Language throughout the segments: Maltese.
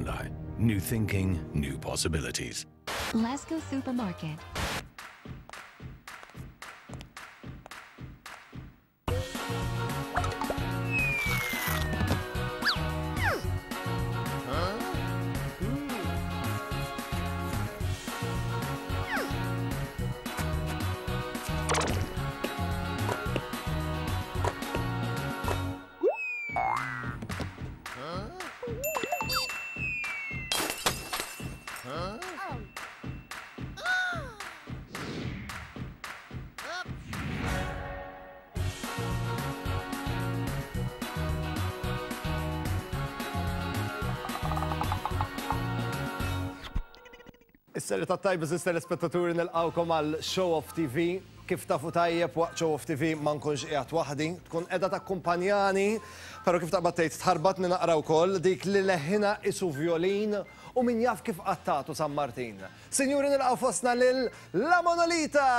Hyundai. New thinking, new possibilities. Lasco Supermarket. Is-serata t-tajba żis telespettaturi nilqawkom għal Show Off TV. Kif tafu tajjeb waqt Show Off TV ma nkunx qiegħed waħdi, tkun qiegħda takkumpanjani, però kif taqbad tgħid tħarbatni naqra wkoll dik li leħinha isu vjolin u min jaf kif qattatu San Martin. Sinjuri nilqgħu fostna lil La Monolita!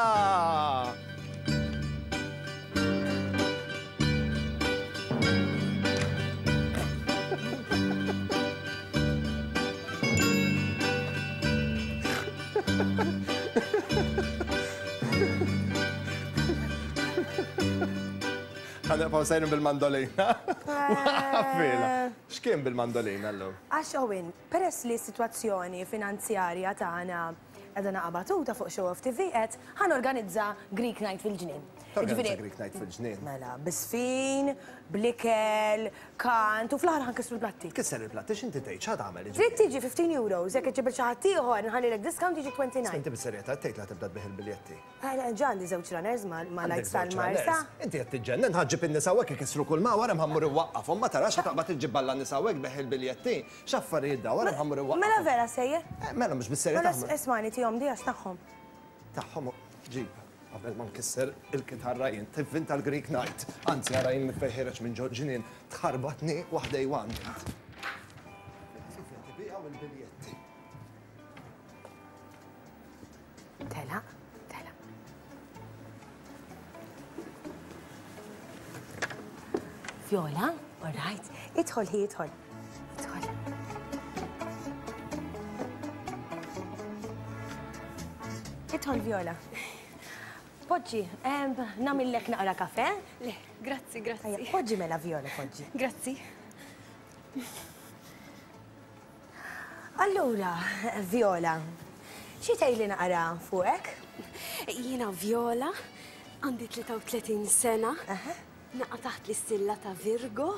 Ħanibqgħu sejrin bil-mandolina. Għaffila. X'kien bil-mandolina llum? Għax Owen, peress li s-sitwazzjoni finanzjarja tagħna qiegħda naqa' batuta fuq Show Off TV qed ħa norganizza Greek Night fil-ġnien. Torganizza Greek Night fil-ġnien? Mela, bi żfin, bl-ikel, kant u fl-aħħar ħa nkissru l-platti. Tkisser il-platti x'inti tgħid x'ħa tagħmel jiġifieri? Trid tiġi 15 euros, jekk iġġib lil xi ħadd ieħor nħallilek discount jiġi 29. Inti bis-serjetà qed tgħid li ħa tibda tbigħ il-biljetti? Ġa għandi żewġ runners ma' lights tal-Marsa. Inti qed tiġġennen, ħa ġġib in-nisa hawnhekk ikissru kull ma wara ħa mmur inwaqqafhom, ma tarax ħa taqbad iġġib balla nisa hawnhekk tbigħ il-biljetti. X'affarijiet dawn, wara ħa mmur inwaqqafhom. Mela vera sejjer? Mela mhux bis-serjetà. Mela ismagħni tihom di għax tagħhom. Tagħhom ġib. Qabel ma nkisser il-kitarra jien, tivvinta l-Greek Night. Anzi, ara jien minn fejn ħiereġ minn ġo ġnien, tħarbatni waħda Iwan. Tibiegħu il-biljetti. Telaq, telaq. Viola, all right. Idħol hi, idħol. Idħol. Idħol Viola. Poġġi, nagħmillek naqra kafe? Le, grazzi, grazzi. Poġġi mela Viola, poġġi. Grazzi. Allura, Viola, xi tgħidli naqra fuqek? Jiena Viola, għandi 33 sena, naqa' taħt l-istilla ta' Virgo,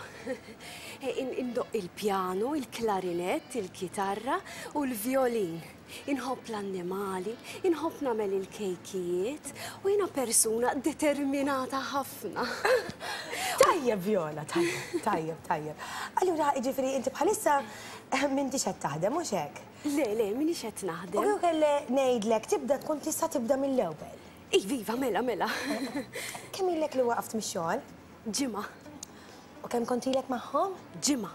indoqq il-pjanu, il-klarinett, il-kitarra u l-vjolin. Inħobb l-annimali, inħobb nagħmel il-kejkijiet u jiena persuna determinata ħafna. Tajjeb Viola, tajjeb, tajjeb, tajjeb. Allura, jiġifieri inti bħalissa m'intix qed taħdem, mhux hekk? Le, le, m'iniex qed naħdem. U kieku kelli ngħidlek tibda tkun tista' tibda mill-ewwel. Iva, iva, mela, mela. Kemm ilek li waqaft mix-xogħol? Ġimgħa. U kemm kont ilek magħhom? Ġimgħa.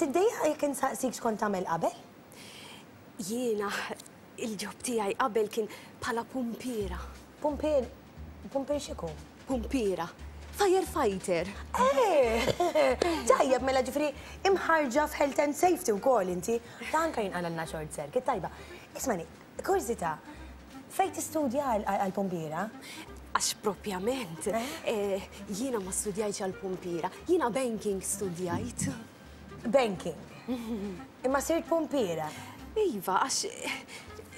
Tiddejjaq jekk insaqsik x'kont tagħmel qabel? Jiena il-ġob tiegħi qabel kien bħala pumpiera. Pumpier, pumpier x'ikun? Pumpiera. Firefighter. Eh! Tajjeb, mela ġifieri imħarrġa f'health and safety wkoll inti. Ta' anke jinqalgħalna short circuit, tajba. Ismagħni, kurżità, fejn tistudja għall-pumpiera? Għax propjament, jiena ma studjajtx għall-pumpiera, jiena banking studjajt. Banking? Imma sirt pumpiera? Iva, għax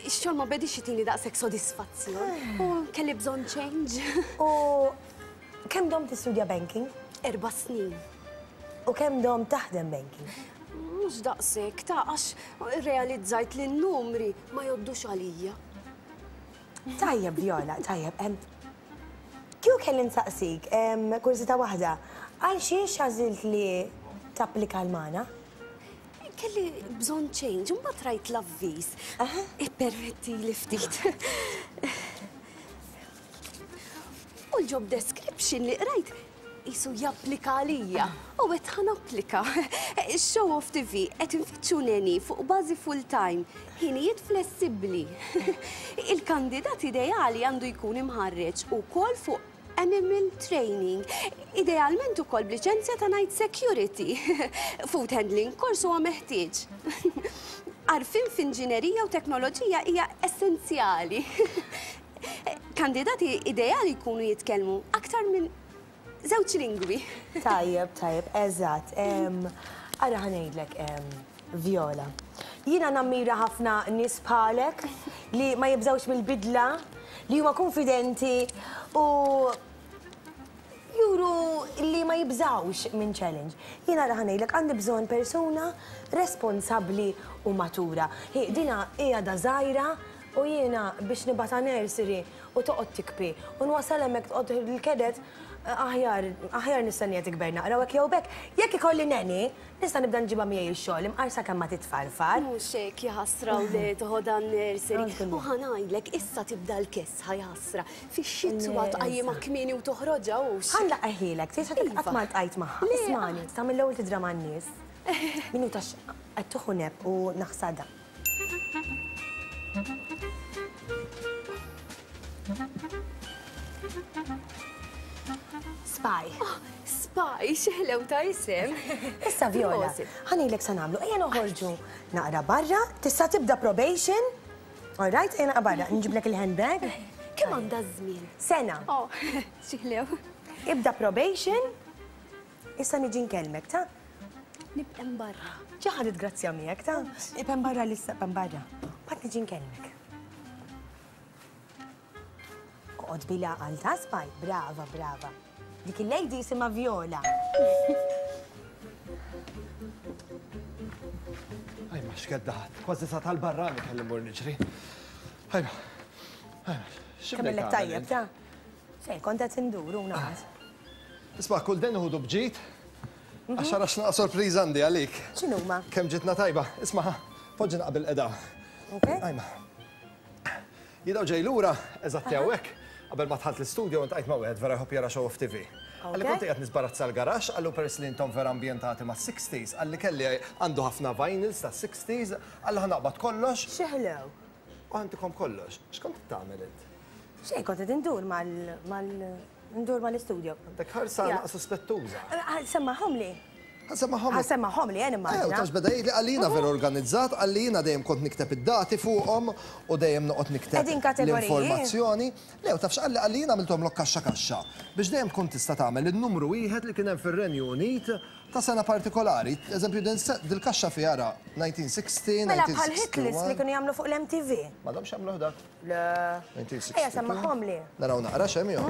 ix-xogħol ma bediex jtini daqshekk sodisfazzjon u kelli bżonn change. U kemm domt tistudja banking? Erba' snin. U kemm domt taħdem banking? Mhux daqshekk, ta' għax realizzajt li n-numri ma jgħoddux għalija. Tajjeb, Viola, tajjeb. Kieku kelli nsaqsik, kurżità waħda, għal xiex għażilt li tapplika għal magħna? Kelli bżonn change, u mbagħad rajt l-avviż. Ippermettili ftit. U l-job description li qrajt qisu japplika għalija. U għedt ħa napplika. Show Off TV qed infittxu neni fuq bażi full-time, ħinijiet flessibbli. Il-kandidat ideali għandu jkun imħarreġ ukoll fuq. Animal Training. Idealment ukoll b'liċenzja ta' Night Security. Food handling course huwa meħtieġ. Għarfien f'inġinerija u teknoloġija hija essenzjali. Kandidati ideali jkunu jitkellmu aktar minn żewġ lingwi. Tajjeb, tajjeb, eżatt. Ara ħa ngħidlek, Viola. Jiena nammira ħafna nies bħalek li ma jibżgħux mill-bidla, li huma kunfidenti u juru li ma jibżgħux minn challenge. Jiena ara ħa ngħidlek għandi bżonn persuna responsabbli u matura. Hi, dina hi għadha żgħira u jiena biex nibgħatha nursery u toqgħod tikbi u nwasal hemmhekk toqgħod il-kedet aħjar aħjar nistennija tikber naqra u hekk jew b'hekk. Jekk ikolli nanny, nista' nibda nġibha miegħi x-xogħol imqar sakemm ma titfarfar. Mhux hekk jaħasra u le toħodha n-nursery. U ħa ngħidlek issa tibda l-kesħa jaħasra. Fix-xitwa tqajjimha kmieni u toħroġha hux. Ħa nlaqqaħielek, tgħid ħadd qatt ma ltqajt magħha. Ismagħni, sa mill-ewwel tidra man-nies. Minuta qed tieħu nap u naħsadha. Spy. Oh, spy, xeħlew ta' isem. Issa Viola, ħanilek sa nagħmlu, ejja noħorġu naqra barra, tista' tibda probation. All right, ejja naqra barra, nġiblek il-handbag. Kemm għandha żmien? Sena. Oh, xeħlew. Ibda probation. Issa niġi nkellmek, ta? Nibqem barra. Ġa ħadet grazzja miegħek, ta? Ibqem barra lissa, ibqem barra. Mbagħad niġi nkellmek. Oqgħod bil-għaqal ta' spaj, brava, brava. Dik il-lady jisimha Viola. Ajma, x'keddaħat, kważi sa tal-barrani kelli mmur niġri. Ajma, ajma, x'ibdejt tajjeb, ta? Xejn, kont qed indur u naqas. Isma' kull den uħudu b'ġid, għax ara x'naqa' sorpriża għandi għalik. X'inhuma? Kemm ġitna tajba. Isma' ħa, poġġi naqa' bil-qeda. Ok. Ajma. Jien hawn ġej lura, eżatti hawnhekk, qabel ma dħalt l-istudio iltqajt ma' wieħed vera jħobb jara show off TV. Qalli kont qiegħed nisbarazza l-garaxx, qallu peress li intom vera ambjentati mas-sixties, qalli kelli għandu ħafna vinyls tas-sixties, qalli ħa naqbad kollox. Xi ħlew. U ħa ntikom kollox. X'kont qed tagħmel int? Xejn, kont qed indur mal mal Ndur mal-istudio. Għandek ħarsa naqra suspettuża. Semmahomli. Semmahomli. Semmahomli, jien immaġina. Ejja, tax beda jgħidli qalli jiena vera organizzat, qalli jiena dejjem kont nikteb id-dati fuqhom u dejjem noqgħod nikteb l-informazzjoni. Le, u taf x'qalli qalli jiena għamilthomlok kaxxa kaxxa biex dejjem tkun tista' tagħmel in-numru wieħed li kien hemm fir-Renju Unit ta' sena partikolari. Eżempju, dil-kaxxa fiha ara 1960, 1961. Mela bħal hit list li kienu jagħmlu fuq l-MTV. M'għadhomx jagħmluh dak. Le. Ejja semmahomli. Naraw naqra x'hemm jew.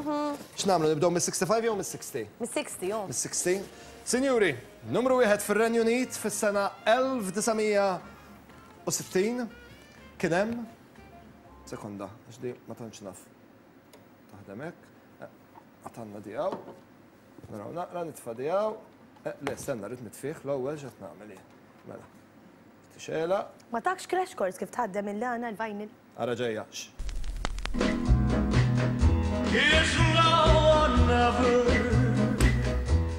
X'nagħmlu nibdew mis-65 jew mis-60? Mis-60 hu. Mis-60. Sinjuri, numru wieħed fir-Renju Unit fis-sena 1960 kien hemm Sekonda, għax di ma tantx naf. Taħdem hekk. Għatanna di hawn. Naraw naqra nitfa' di hawn. Le, stenna, rrid nitfih l-ewwel x'qed nagħmel jien. Mela. Tixela. Ma takx crash course kif tħaddem il-lana l-vinyl? Ara ġejja.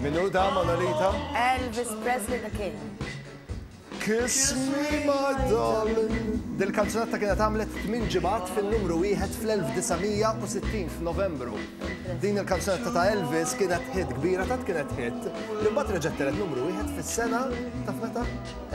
Min hu da Manolita? Elvis Presley the King. Kiss me my darling. Dil-kanzunetta kienet għamlet 8 ġimgħat fin-numru wieħed fl-1960 f'Novembru. Din il-kanzunetta ta' Elvis kienet hit kbira, tant kienet hit li mbagħad reġgħet telgħet numru wieħed fis-sena taf meta?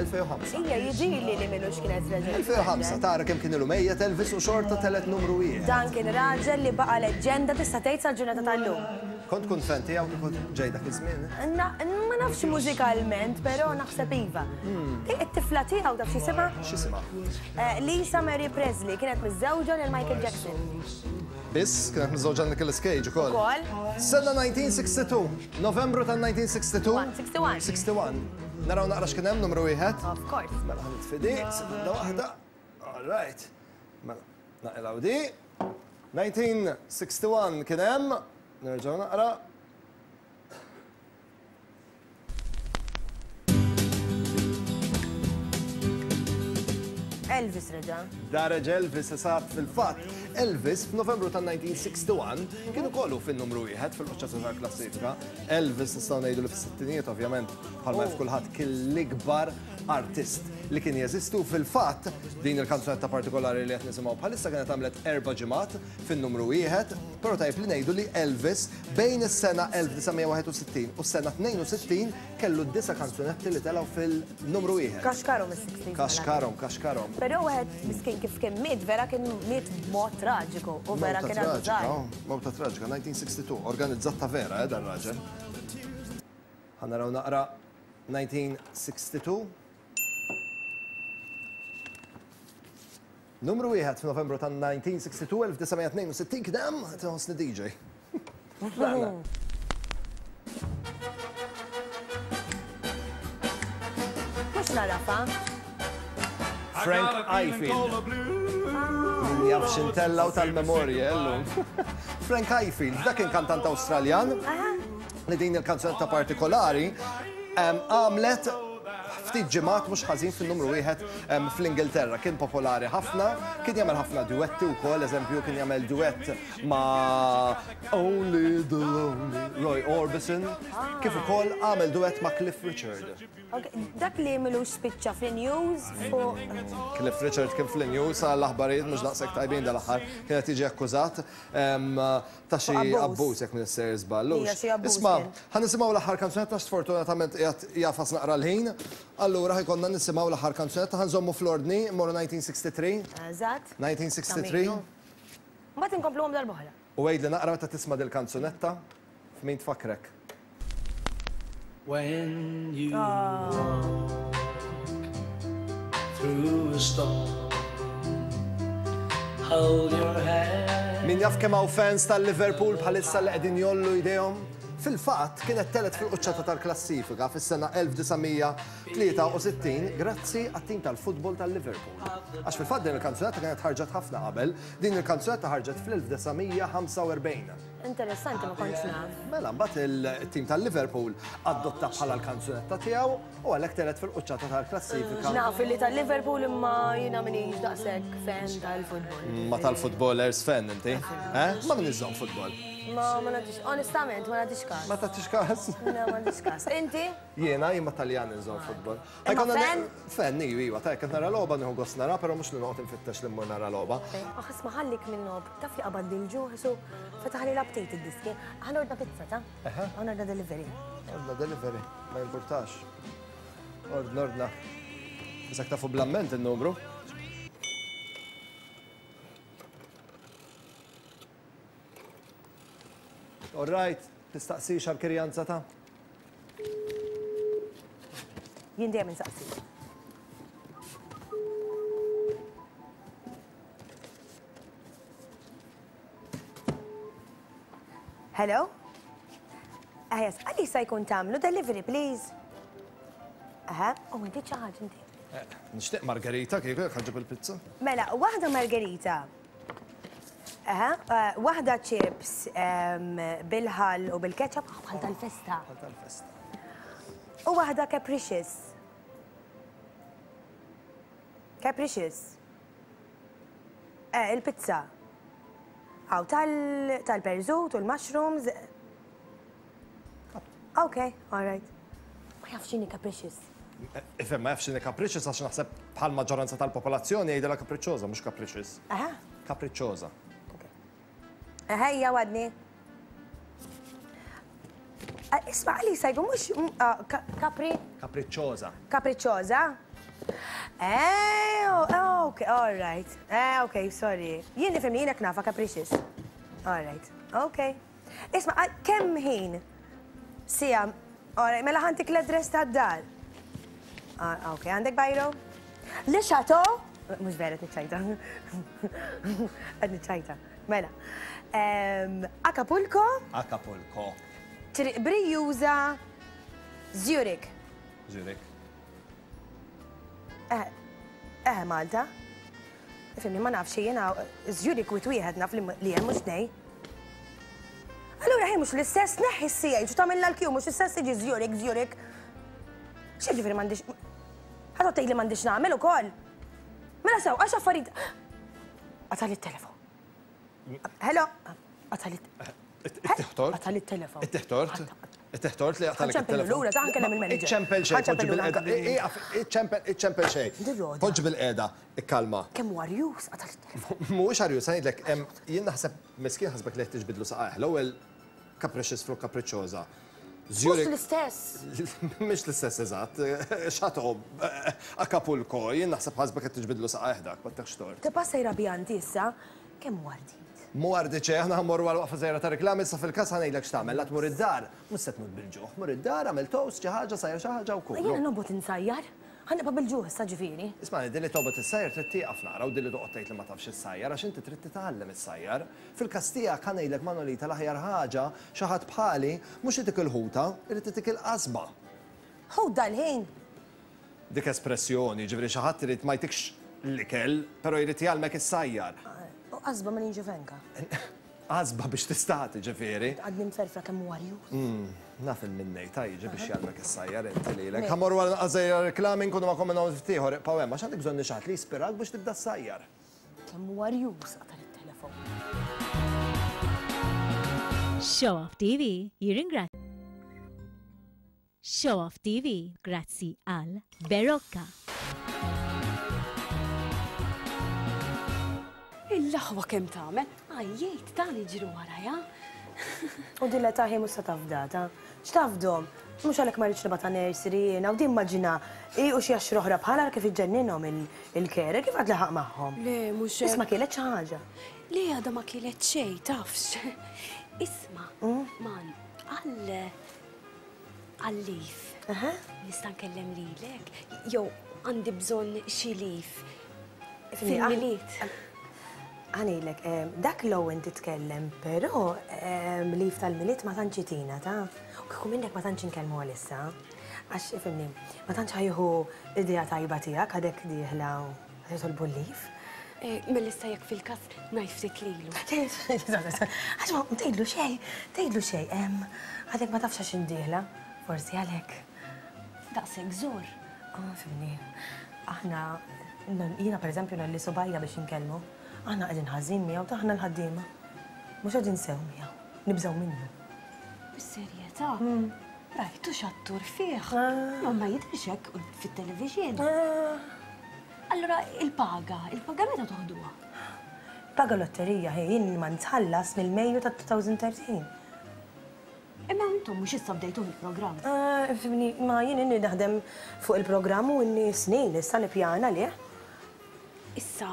2005. Ija, jiġili li m'ilux kienet reġgħet. 2005, tara kemm kien ilu mejjet Elvis u xorta telgħet numru wieħed. Dan kien raġel li baqa' leġġenda tista' tgħid sal-ġurnata tal-lum. Kont tkun fan tiegħu kieku ġej dak iż-żmien? Ma nafx mużikalment, però naħseb iva. It-tifla tiegħu taf x'jisimha? X'jisimha? Lisa Marie Presley kienet miżżewġa lil Michael Jackson. Biss, kienet miżżewġa Nicolas Cage ukoll. Ukoll. Sena 1962, Novembru tan-1962. 61. 61. Naraw naqra x'kien hemm numru wieħed. Of course. Mela ħa nitfi di, sekonda waħda. All right. Mela, naqilgħu di. 1961 kien hemm. Nerġgħu naqra. Elvis reġa'. Da reġa' Elvis eżatt fil-fatt. Elvis f'Novembru tan-1961 kien ukoll hu fin-numru wieħed fil-quċċata tal-klassifika. Elvis nistgħu ngħidu li fis-sittinijiet ovvjament bħalma jaf kulħadd kien l-ikbar artist li kien jeżisti u fil-fatt din il-kanzunetta partikolari li qed nisimgħu bħalissa kienet għamlet erba' ġimgħat fin-numru wieħed, però tajjeb li ngħidu li Elvis bejn is-sena 1961 u s-sena 62 kellu disa' kanzunetti li telgħu fil-numru wieħed. Kaxkarhom is-sixties mela. Kaxkarhom, kaxkarhom. Però wieħed miskin kif kien miet vera kien miet b'mod traġiku u vera kien għadu żgħir. Mewta traġika, 1962, organizzat ta' vera, eh, dan raġel. Ħa naraw naqra 1962. Numru wieħed f'Novembru ta' 1962, 1962 kien hemm, qed inħossni DJ. Mhux narafa. Frank Ifield. Min jaf x'intellaw tal-memorja llum. Frank Ifield, dak kien kantant Awstraljan li din il-kanzunetta partikolari għamlet ftit ġimgħat mhux ħażin fin-numru wieħed fl-Ingilterra. Kien popolari ħafna, kien jagħmel ħafna duetti wkoll, eżempju kien jagħmel duett ma' Only the Lonely Roy Orbison, kif ukoll għamel duett ma' Cliff Richard. Dak li milux spiċċa fl-news fuq. Cliff Richard kien fl-news għal aħbarijiet mhux daqshekk tajbin dal-aħħar. Kien qed jiġi akkużat ta' xi abbuż jekk m'iniex sejjer żball. Isma', ħa nisimgħu l-aħħar kanzunetta għax sfortunatament qiegħed jagħfas naqra l-ħin. Allura ħa jkollna nisimgħu l-aħħar kanzunetta, ħa nżommu fl-ordni, mmorru 1963. Eżatt. 1963. Mbagħad inkompluhom darb'oħra. U għidli naqra meta tisma' dil-kanzunetta, f'min tfakkrek? When you walk through a storm, hold your head. Min jaf kemm hawn fans tal-Liverpool bħalissa li qegħdin jgħollu jdejhom? Fil-fatt, kienet telgħet fil-quċċata tal-klassifika fis-sena 1963 grazzi għat-tim tal-futbol tal-Liverpool. Għax fil-fatt din il-kanzunetta kienet ħarġet ħafna qabel, din il-kanzunetta ħarġet fl-1945. Interessanti ma kontx naf. Mela mbagħad il-tim tal-Liverpool adotta bħala l-kanzunetta tiegħu u għalhekk telgħet fil-quċċata tal-klassifika. Naf li tal-Liverpool imma jiena m'iniex daqshekk fan tal-futbol. Ma tal-footballers fan inti? Eh? Ma min iżżomm futbol? Ma ma nagħtix, onestament ma nagħtix każ. Ma tagħtix każ? Le ma nagħtix każ. Inti? Jiena jien ma Taljan inżomm futbol. Imma fan? Fan, iva, iva, ta' jekk nara logħba nieħu gost nara, però mhux li noqgħod infittex li mmur nara logħba. Aħ, isma' ħallik minn logħob, taf li qabadli l-ġuħ, su fetaħli l-aptit id-diski. Ħa nordna pizza, ta? Ħa nordna delivery. Ordna delivery, ma jimpurtax. Ordna, ordna. Bisak tafu bl-amment in-numru. All right, tistaqsix għal-kirjanza ta'? Jien dejjem insaqsi. Hello? Ah, yes, għalli sa jkun tamlu delivery, please. Aha, u inti ċaħġ inti. Eh, nixtieq margarita kieku jekk ħanġib il-pizza. Mela, waħda margarita. Aha, eh, waħda chips bil-ħall u bil-ketchup bħal tal-festa. Bħal tal-festa. U waħda capricious. Capricious. Eh, il-pizza. Għaw tal-perżut u l-mushrooms. Ok, all right. Ma jafx x'inhi capricious. Ifhem, ma jafx x'inhi capricious għax naħseb bħal maġġoranza tal-popolazzjoni jgħidilha capricciosa, mhux capricious. Aha. Capricciosa. Ejja għadni. Isma' għalli sajbu mhux capri. Capricciosa. Capricciosa? Eh, oh, ok, all right. Eh, ok, sorry. Jien nifhimni jiena knafa capricious. All right, ok. Isma' kemm ħin? Siegħa. Alright, mela ħantik l-address tad-dar. Ah, ok, għandek bajro? Le Chateau? Mhux vera qed niċċajta. Qed niċċajta. Mela. Acapulco. Acapulco. Triq Brijuża, Zurich. Zurich. Eh, eh Malta. Ifhimni, ma nafx jiena Zurich wit wieħed naf li hemm mhux tnej. Allura ħin mhux l-istess neħħi s-CH u tagħmilha l-Q mhux l-istess tiġi Zurich, Zurich. X'jiġifieri m'għandix Ħa tgħidli m'għandix nagħmel ukoll. Mela sew, għax affarijiet. Qatali t-telefon. Hello, qatali It-tiħtort? Qatali t-telefon. It-tiħtort? Ittih tort li jaqtagħlek it-telefon. Lura, ta' nkellem il-manager. Iċċempel xejn, poġġi bilqiegħda. Ieqaf, iċċempel, iċċempel xejn. Poġġi bilqiegħda, ikkalma. Kemm hu arjuż, qatgħali t-telefon. Mhuwiex arjuż, ħa ngħidlek, jien naħseb miskin ħasbek li qed tiġbidlu saqajh. L-ewwel capricious flok capricciosa. Mhux l-istess. Mhix l-istess eżatt. Chateau, Acapulco, jien naħseb ħasbek qed tiġbidlu saqajh dak, ma ttihx tort. Tibqa' sejra bija inti issa, kemm hu ardit. Mhu ardit xejn, aħna ħa mmorru għal waqfa żgħira ta' reklami, issa fil-każ ħa ngħidlek x'tagħmel, la tmur id-dar, mhux se tmut bil-ġuħ, mur id-dar, agħmel toast, xi ħaġa, sajjar xi ħaġa u kul. Jiena nobgħod insajjar, ħa nibqa' bil-ġuħ issa ġifieri. Ismagħni, din li tobgħod issajjar trid tieqaf naqra u din li toqgħod tgħid li ma tafx issajjar għax inti trid titgħallem issajjar. Fil-każ tiegħek ħa ngħidlek Manolita l-aħjar ħaġa xi ħadd bħali mhux itik il-ħuta, irid itik il-qasba. Ħut dal-ħin! Dik espressjoni, jiġifieri xi ħadd irid ma jtikx l-ikel, però jrid jgħallmek issajjar. U qasba ma ninġi fenka. Qasba biex tistagħti ġifieri. Għadni mferfra kemm huwa arjuż. Naf il min ngħid, jiġi biex jgħallmek issajjar inti lilek. Ħa mmorru għal naqas żgħira reklami nkunu magħkom minn hawn ftit ieħor ibqgħu hemm għax għandek bżonn xi ħadd li jispirak biex tibda ssajjar. Kemm huwa arjuż qata' it-telefon. Show Off TV jirringrazzja. Show Off TV grazzi għal Berocca. Il-laħwa kemm tagħmel, għajjejt ta' niġri warajha. U din l-età hi mhux se tafda, ta. X'tafdhom? Mhux għalhekk ma rridx nibgħatha nursery jiena u din immaġina hi u xi għaxra oħra bħalha ara kif iġġenninhom il-carer, kif għad laħaq magħhom? Le, mhux hekk. Biss ma kielet xi ħaġa. Le, għadha ma kielet xejn, tafx. Isma', man, għal Għal-leave. Nista' nkellem lilek? Jew għandi bżonn xi leave fil-Milied. Ħa ngħidlek, dak l-Owen titkellem, però leave tal-Milied ma tantx itina, ta? U kieku minnek ma tantx inkellmu għalissa. Għax, ifhimni, ma tantx ħa jieħu idea tajba tiegħek għadek dieħla u Qed jitolbu l-leave. Mela issa jekk fil-każ ngħid ftit lilu. Għax ma tgħidlu xejn, tgħidlu xejn. Għadek ma tafx għax indieħla, forsi għalhekk. Daqshekk żor. Ah, fimni. Aħna, jiena pereżempju ngħolli subgħajja biex inkellmu. Aħna qegħdin ħażin miegħu ta' aħna l-ħaddiema. Mhux qegħdin sew miegħu, nibżgħu minnu. Bis-serjetà? Rajtu x'attur fih. Ma ma jidhirx hekk fit-television. Allura il-paga, il-paga meta toħduha? Paga lotterija hi, jien ma nitħallas mill-Mejju ta' 2013. Imma intom mhux issa bdejtuh il-programm. Fimni, ma jien inni naħdem fuq il-programm u inni snin issa nippjana għalih. Issa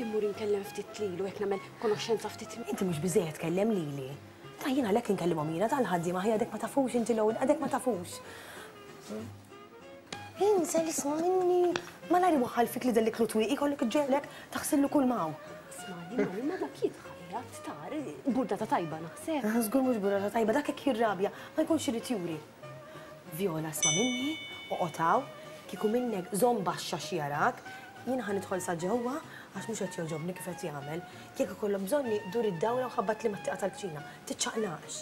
immur inkellem ftit lilu hekk nagħmel konoxxenza ftit. Inti mhux biżejjed tkellem lili. Ta' jien għalhekk inkellimhom jiena tal-ħaddiema ħi għadek ma tafux inti l-ewwel għadek ma tafux. Inżel isma' minni. Malajr iwaħħal fik li delliklu twieqi jkollok iġġegħlek taħsillu kull ma hawn. Ismagħni, Mami, ma dak jitħajjat tar, burdata tajba naħseb. Żgur mhux burdata tajba, dak hekk jirrabja, ma jkunx irid juri. Viola, isma' minni, oqgħod hawn, kieku minnek żomm baxx għax jarak, jien ħa nidħol sa ġewwa għax mhux qed jogħġobni kif qed jagħmel. Jekk ikollok bżonni, dur id-dawra u ħabbatli mat-tieqa tal-kċina. Tiċċaqlaqx.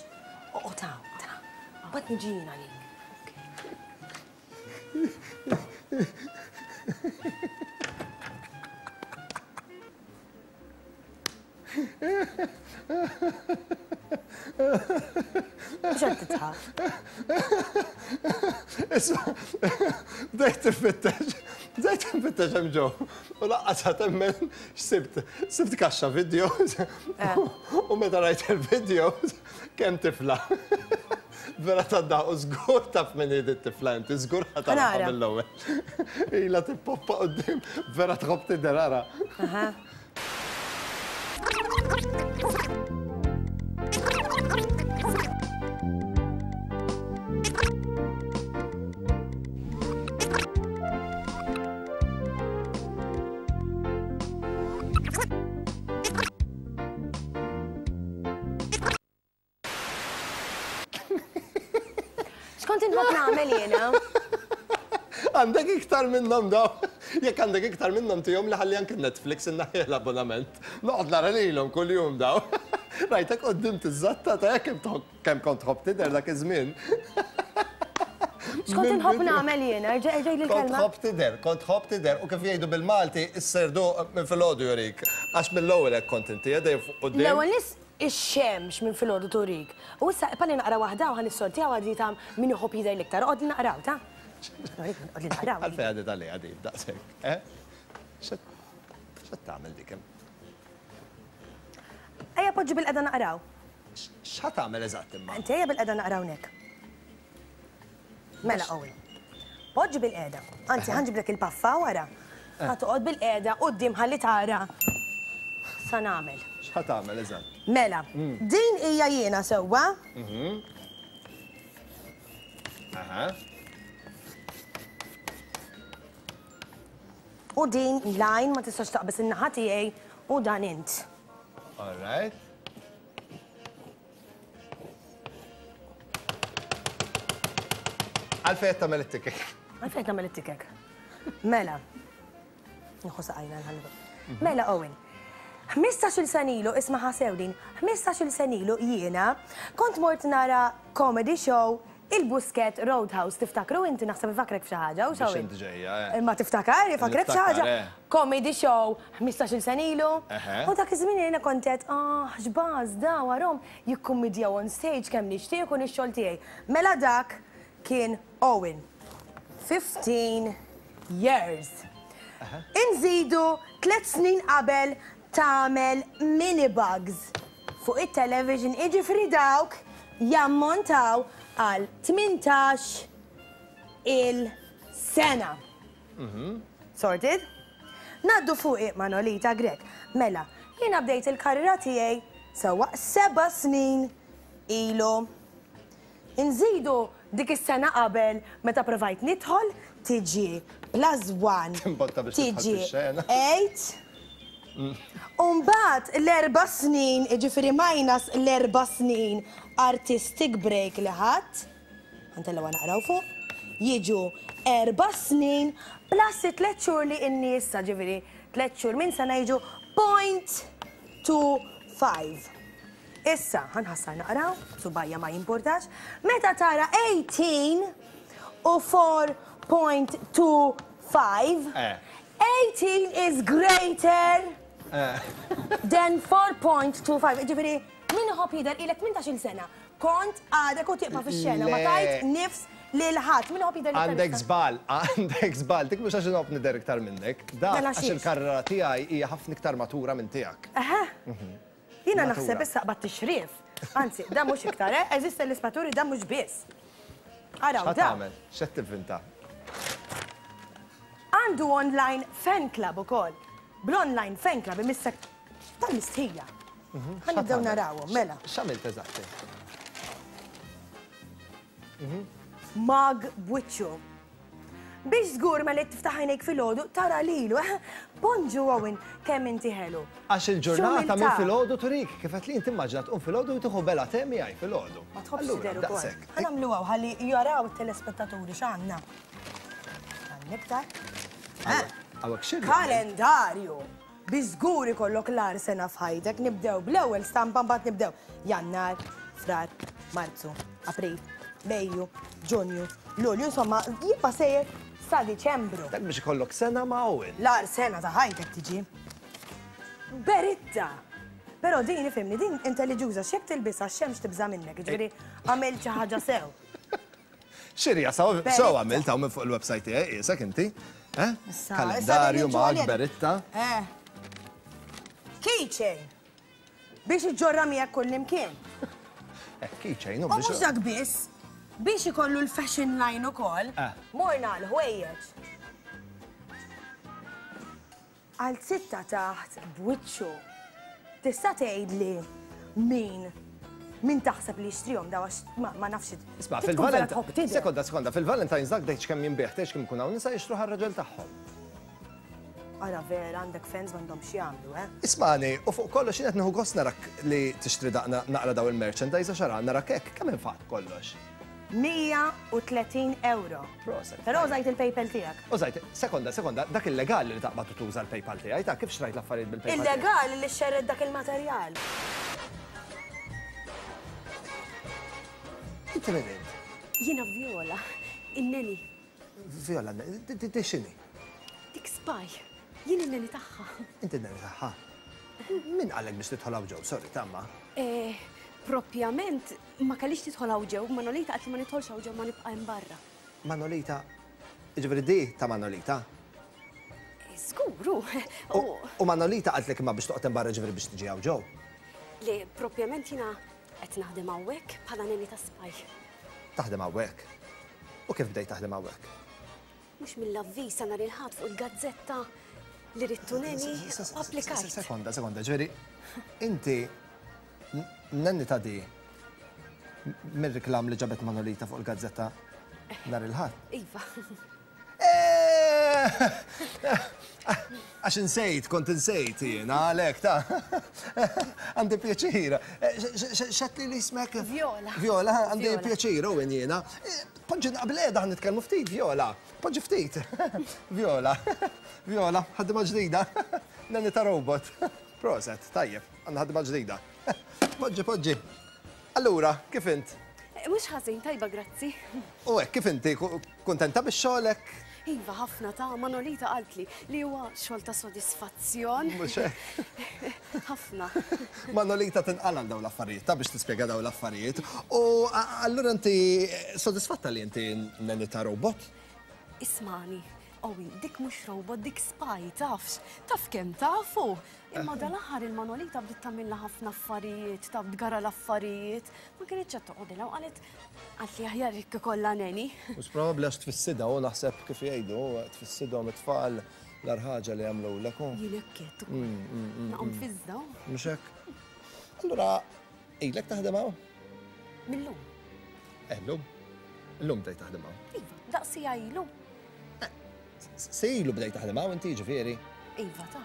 Oqgħod hawn, ta. Mbagħad niġi jien għalik. Mhux qed tidħak. Isma', bdejt infittex, bdejt infittex hemm ġew. U lanqas ħa temmen x'sibt. Sibt kaxxa videos u meta rajt il-videos kemm tifla. Vera tad-daħq u żgur taf min hi dit-tifla inti, żgur ħa tagħrafha mill-ewwel. Ilha tippoppa quddiem, vera tħobb tidher ara. X'kont inħobb nagħmel jiena? Għandek iktar minnhom daw. Jekk għandek iktar minnhom tihom li ħalli anke Netflix innaħħi l-abbonament. Noqgħod nara lilhom kuljum daw. Rajtek quddiem tiżatta ta' kemm kemm kont tħobb tidher dak iż-żmien. X'kont inħobb nagħmel jiena? Erġa' erġa' jgħidli Kont l-kelma. tħobb tidher, kont tħobb tidher u kif jgħidu bil-Malti, is-serduq minn filgħodu jurik. Għax mill-ewwel hekk kont inti, dejjem fuq quddiem. L-ewwel nies. Ix-xemx minn filgħodu turik. U issa palli naqra waħda u ħa nissortijaw għaddi ta' min iħobb jidher l-iktar. Oqgħod li naqraw, ta'. Oqgħod li naqraw. Għalfejn għaddiet għaliha din daqshekk, eh? X'qed tagħmel dik hemm? Ejja poġġi bil-qeda naqraw. X'ħa tagħmel eżatt imma? Inti ejja bil-qeda naqraw hawnhekk. Mela Owen. Poġġi bil-qeda. Anzi, ħa nġiblek il-paffa wara. Ħa toqgħod bil-qeda quddiem ħalli tara sa nagħmel. X'ħa tagħmel eżatt? Mela, din hija jiena sewwa. Aha. U din l-għajn ma tistax taqbeż in-naħa tiegħi u dan int. All right. Għalfejn qed tagħmel it-tikek? Għalfejn qed tagħmel it-tikek? Mela. Nieħu saqajna nħallu. Mela Owen. 15-il sena ilu, isma' sew din, 15-il sena ilu jiena kont mort nara comedy show il-Buskett Roadhouse, tiftakru inti naħseb ifakrek f'xi ħaġa, u Biex inti ġejja, eh. Imma tiftakar, ifakrek f'xi ħaġa. Eh. Comedy show 15-il sena ilu. U dak iż-żmien jiena kont qed, ah, x'baż da warhom jikkummidjaw on stage kemm nixtieq ikun ix-xogħol tiegħi. Mela dak kien Owen. 15 years. Inżidu tliet snin qabel tagħmel mini bugs fuq it-television jiġifieri dawk jammontaw għal 18 il sena. Sorted? Ngħaddu fuqi Manolita Grech. Mela, jiena bdejt il-karriera tiegħi sewwa seba' snin ilu. Inżidu dik is-sena qabel meta provajt nidħol tiġi plus one Timbotta biex tidħol tiġi fix-xena. eight. U mbagħad l-erba' snin, jiġifieri minus l-erba' snin artistic break li ħadt, ħa ntellgħuha naqraw fuq, jiġu erba' snin plus it-tliet xhur li inni issa, ġifieri tliet xhur minn sena jiġu point 25. Issa, ħa nħassar naqraw, subajja ma jimpurtax, meta tara 18 u 4.25, 18 is greater than 4.25. Ġifieri, min iħobb jidher ilek 18-il sena, kont għadek u tieqfa fix-xena, ma tajt nifs lil ħadd. Min iħobb jidher iktar Għandek żball, għandek żball. Dik mhux għax inħobb nidher iktar minnek. Dak Mela għax xiex? il-karriera tiegħi hija ħafna iktar matura minn tiegħek. Eħe. Jiena Matura. naħseb issa qbadt tixrif. Anzi, da mhux iktar, eh? Eżiste l-ispaturi da mhux biss. Araw, X'ħa da. tagħmel? X'qed tivvinta? Għandu online fan club ukoll. Bl-online fan club imissek tal-mistħija. Ħa nibdew tagħmel? narawhom, mela. X'għamilt eżatti? Mag b'wiċċu. Biex żgur ma li tiftaħ għajnejk filgħodu tara lilu, eh? Bonġu Owen, kemm inti ħelu. Għax il-ġurnata minn X'umiltà. filgħodu turik, kif qed li inti immaġina tqum filgħodu u tieħu bela te miegħi filgħodu. Ma tħobbx Allura, tidher ukoll. daqshekk. Ħa nagħmluha ħalli jaraw it-telespettaturi x'għandna. Għandna iktar. Hawnhekk x'irrid? Kalendarju! Biex żgur ikollok l-agħar sena f'ħajtek, nibdew bl-ewwel stampa mbagħad nibdew Jannar, Frar, Marzu, April, Mejju, Ġunju, Lulju, insomma, jibqa' sejjer sa Diċembru. Dak biex ikollok sena ma' Owen. L-agħar sena ta' ħajtek tiġi. Beritta! Però din ifhimni, din intelliġuża, x'jekk tilbisha x-xemx tibża' minnek, jiġifieri għamilt xi ħaġa sew. Xirja, sew Beritta. għamilt hawn minn fuq il-website tiegħi, qiesek inti. Eh? Issa, issa Kalendarju din mag il-ġolja- beritta. Eh. Keychain. Biex iġġorra miegħek kull imkien. Eh, keychain, u U biex mhux dak biss, biex ikollu l-fashion line ukoll, Eh. morna l-ħwejjeġ. Għal sitta taħt b'wiċċu. Tista' tgħidli min min taħseb li jixtrihom daw għax ma nafx. Isma', Trid tkun vera fil-Valentine. tħobb tidher. Sekonda, sekonda, fil-Valentine's dak dejx kemm jinbih, tgħidx kemm ikun hawn nisa jixtru ħar-raġel tagħhom. Ara vera għandek fans m'għandhomx jagħmlu, eh? Ismani, u fuq kollox jien qed nieħu gost narak li tixtri daqna naqra daw il-merchandise għax ara narak hekk kemm infaqt kollox. 130 euro. Proset. Però użajt il-PayPal tiegħek. Użajt, sekonda, sekonda, dak illegali li taqbad u tuża l-PayPal tiegħi, ta' kif xtrajt l-affarijiet bil-PayPal? tiegħi? Illegali li xerred dak il-materjal. Inti min int? Jiena Viola, in-nanny. Viola, di x'inhi? Dik spy. Jien in-nanny tagħha. Inti n-nanny tagħha. Min qallek biex tidħol hawn ġew? Sorry, tamma. Eh, propjament ma kellix tidħol hawn ġew, Manolita qalt li ma nidħolx hawn ġew ma nibqa' hemm barra. Manolita, jiġifieri di ta' Manolita? Eh, żgur, hu. U Manolita qaltlek imma biex toqgħod hemm barra ġifieri biex tiġi hawn ġew? Le, propjament jiena qed naħdem hawnhekk bħala nanny ta' spy. Taħdem hawnhekk? U kif bdejt taħdem hawnhekk? Mhux mill-avviż ta' nhar il-Ħadd fuq il-gazzetta li ridtu nanny u applikajt. Sekonda, sekonda, ġifieri inti nanny ta' di mir-reklam li ġabet Manolita fuq il-gazzetta nhar il-Ħadd? Iva. Għax insejt, kont insejt jiena għalhekk ta' għandi pjaċir. X'għedtli li ismek? Viola. Viola, għandi pjaċir u jiena. Poġġi qabel qiegħda ħa nitkellmu ftit, Viola. Poġġi ftit. Viola. Viola, ħaddima ġdida. Nanny ta' robot. Proset, tajjeb, għandna ħaddima ġdida. Poġġi, poġġi. Allura, kif int? Mhux ħażin, tajba grazzi. U hekk, kif inti? Kuntenta bix-xogħlek? Iva, ħafna ta' Manolita qaltli li huwa xogħol ta' sodisfazzjon. Mhux hekk? Ħafna. Manolita tinqala' għal dawn l-affarijiet, ta' biex tispjega dawn l-affarijiet. U allura inti sodisfatta li inti nanny ta' robot? Ismani, Owen, dik mhux robot, dik spy, tafx? Taf kemm tafu? Imma dal-aħħar il-Manolita bdiet tagħmilna ħafna affarijiet, taf tgara l-affarijiet. Ma kinitx qed toqgħodilha u qalet qalt li aħjar jekk ikollha nanny. Mhux probabbli għax tfissidha u naħseb kif jgħidu, tfissidhom it-tfal l-agħar ħaġa li jagħmlulek u. Jien hekk għedt ukoll. Naqgħu nfiżża. Mhux hekk? Allura ilek taħdem hawn? Mil-lum. Eh, llum? Illum bdejt taħdem hawn? Iva, daqs siegħa ilu. Se ilu bdejt taħdem hawn inti jiġifieri? Iva ta.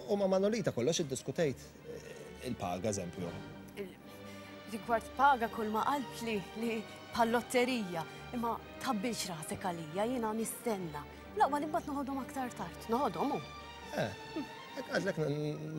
U ma' Manolita kollox iddiskutejt il-paga eżempju? Rigward paga kull ma qaltli li bħal lotterija, imma tħabbilx rasek għalija, jiena nistenna. L-aqwa li mbagħad noħodhom aktar tard, noħodhom hu. Eh, Għadlek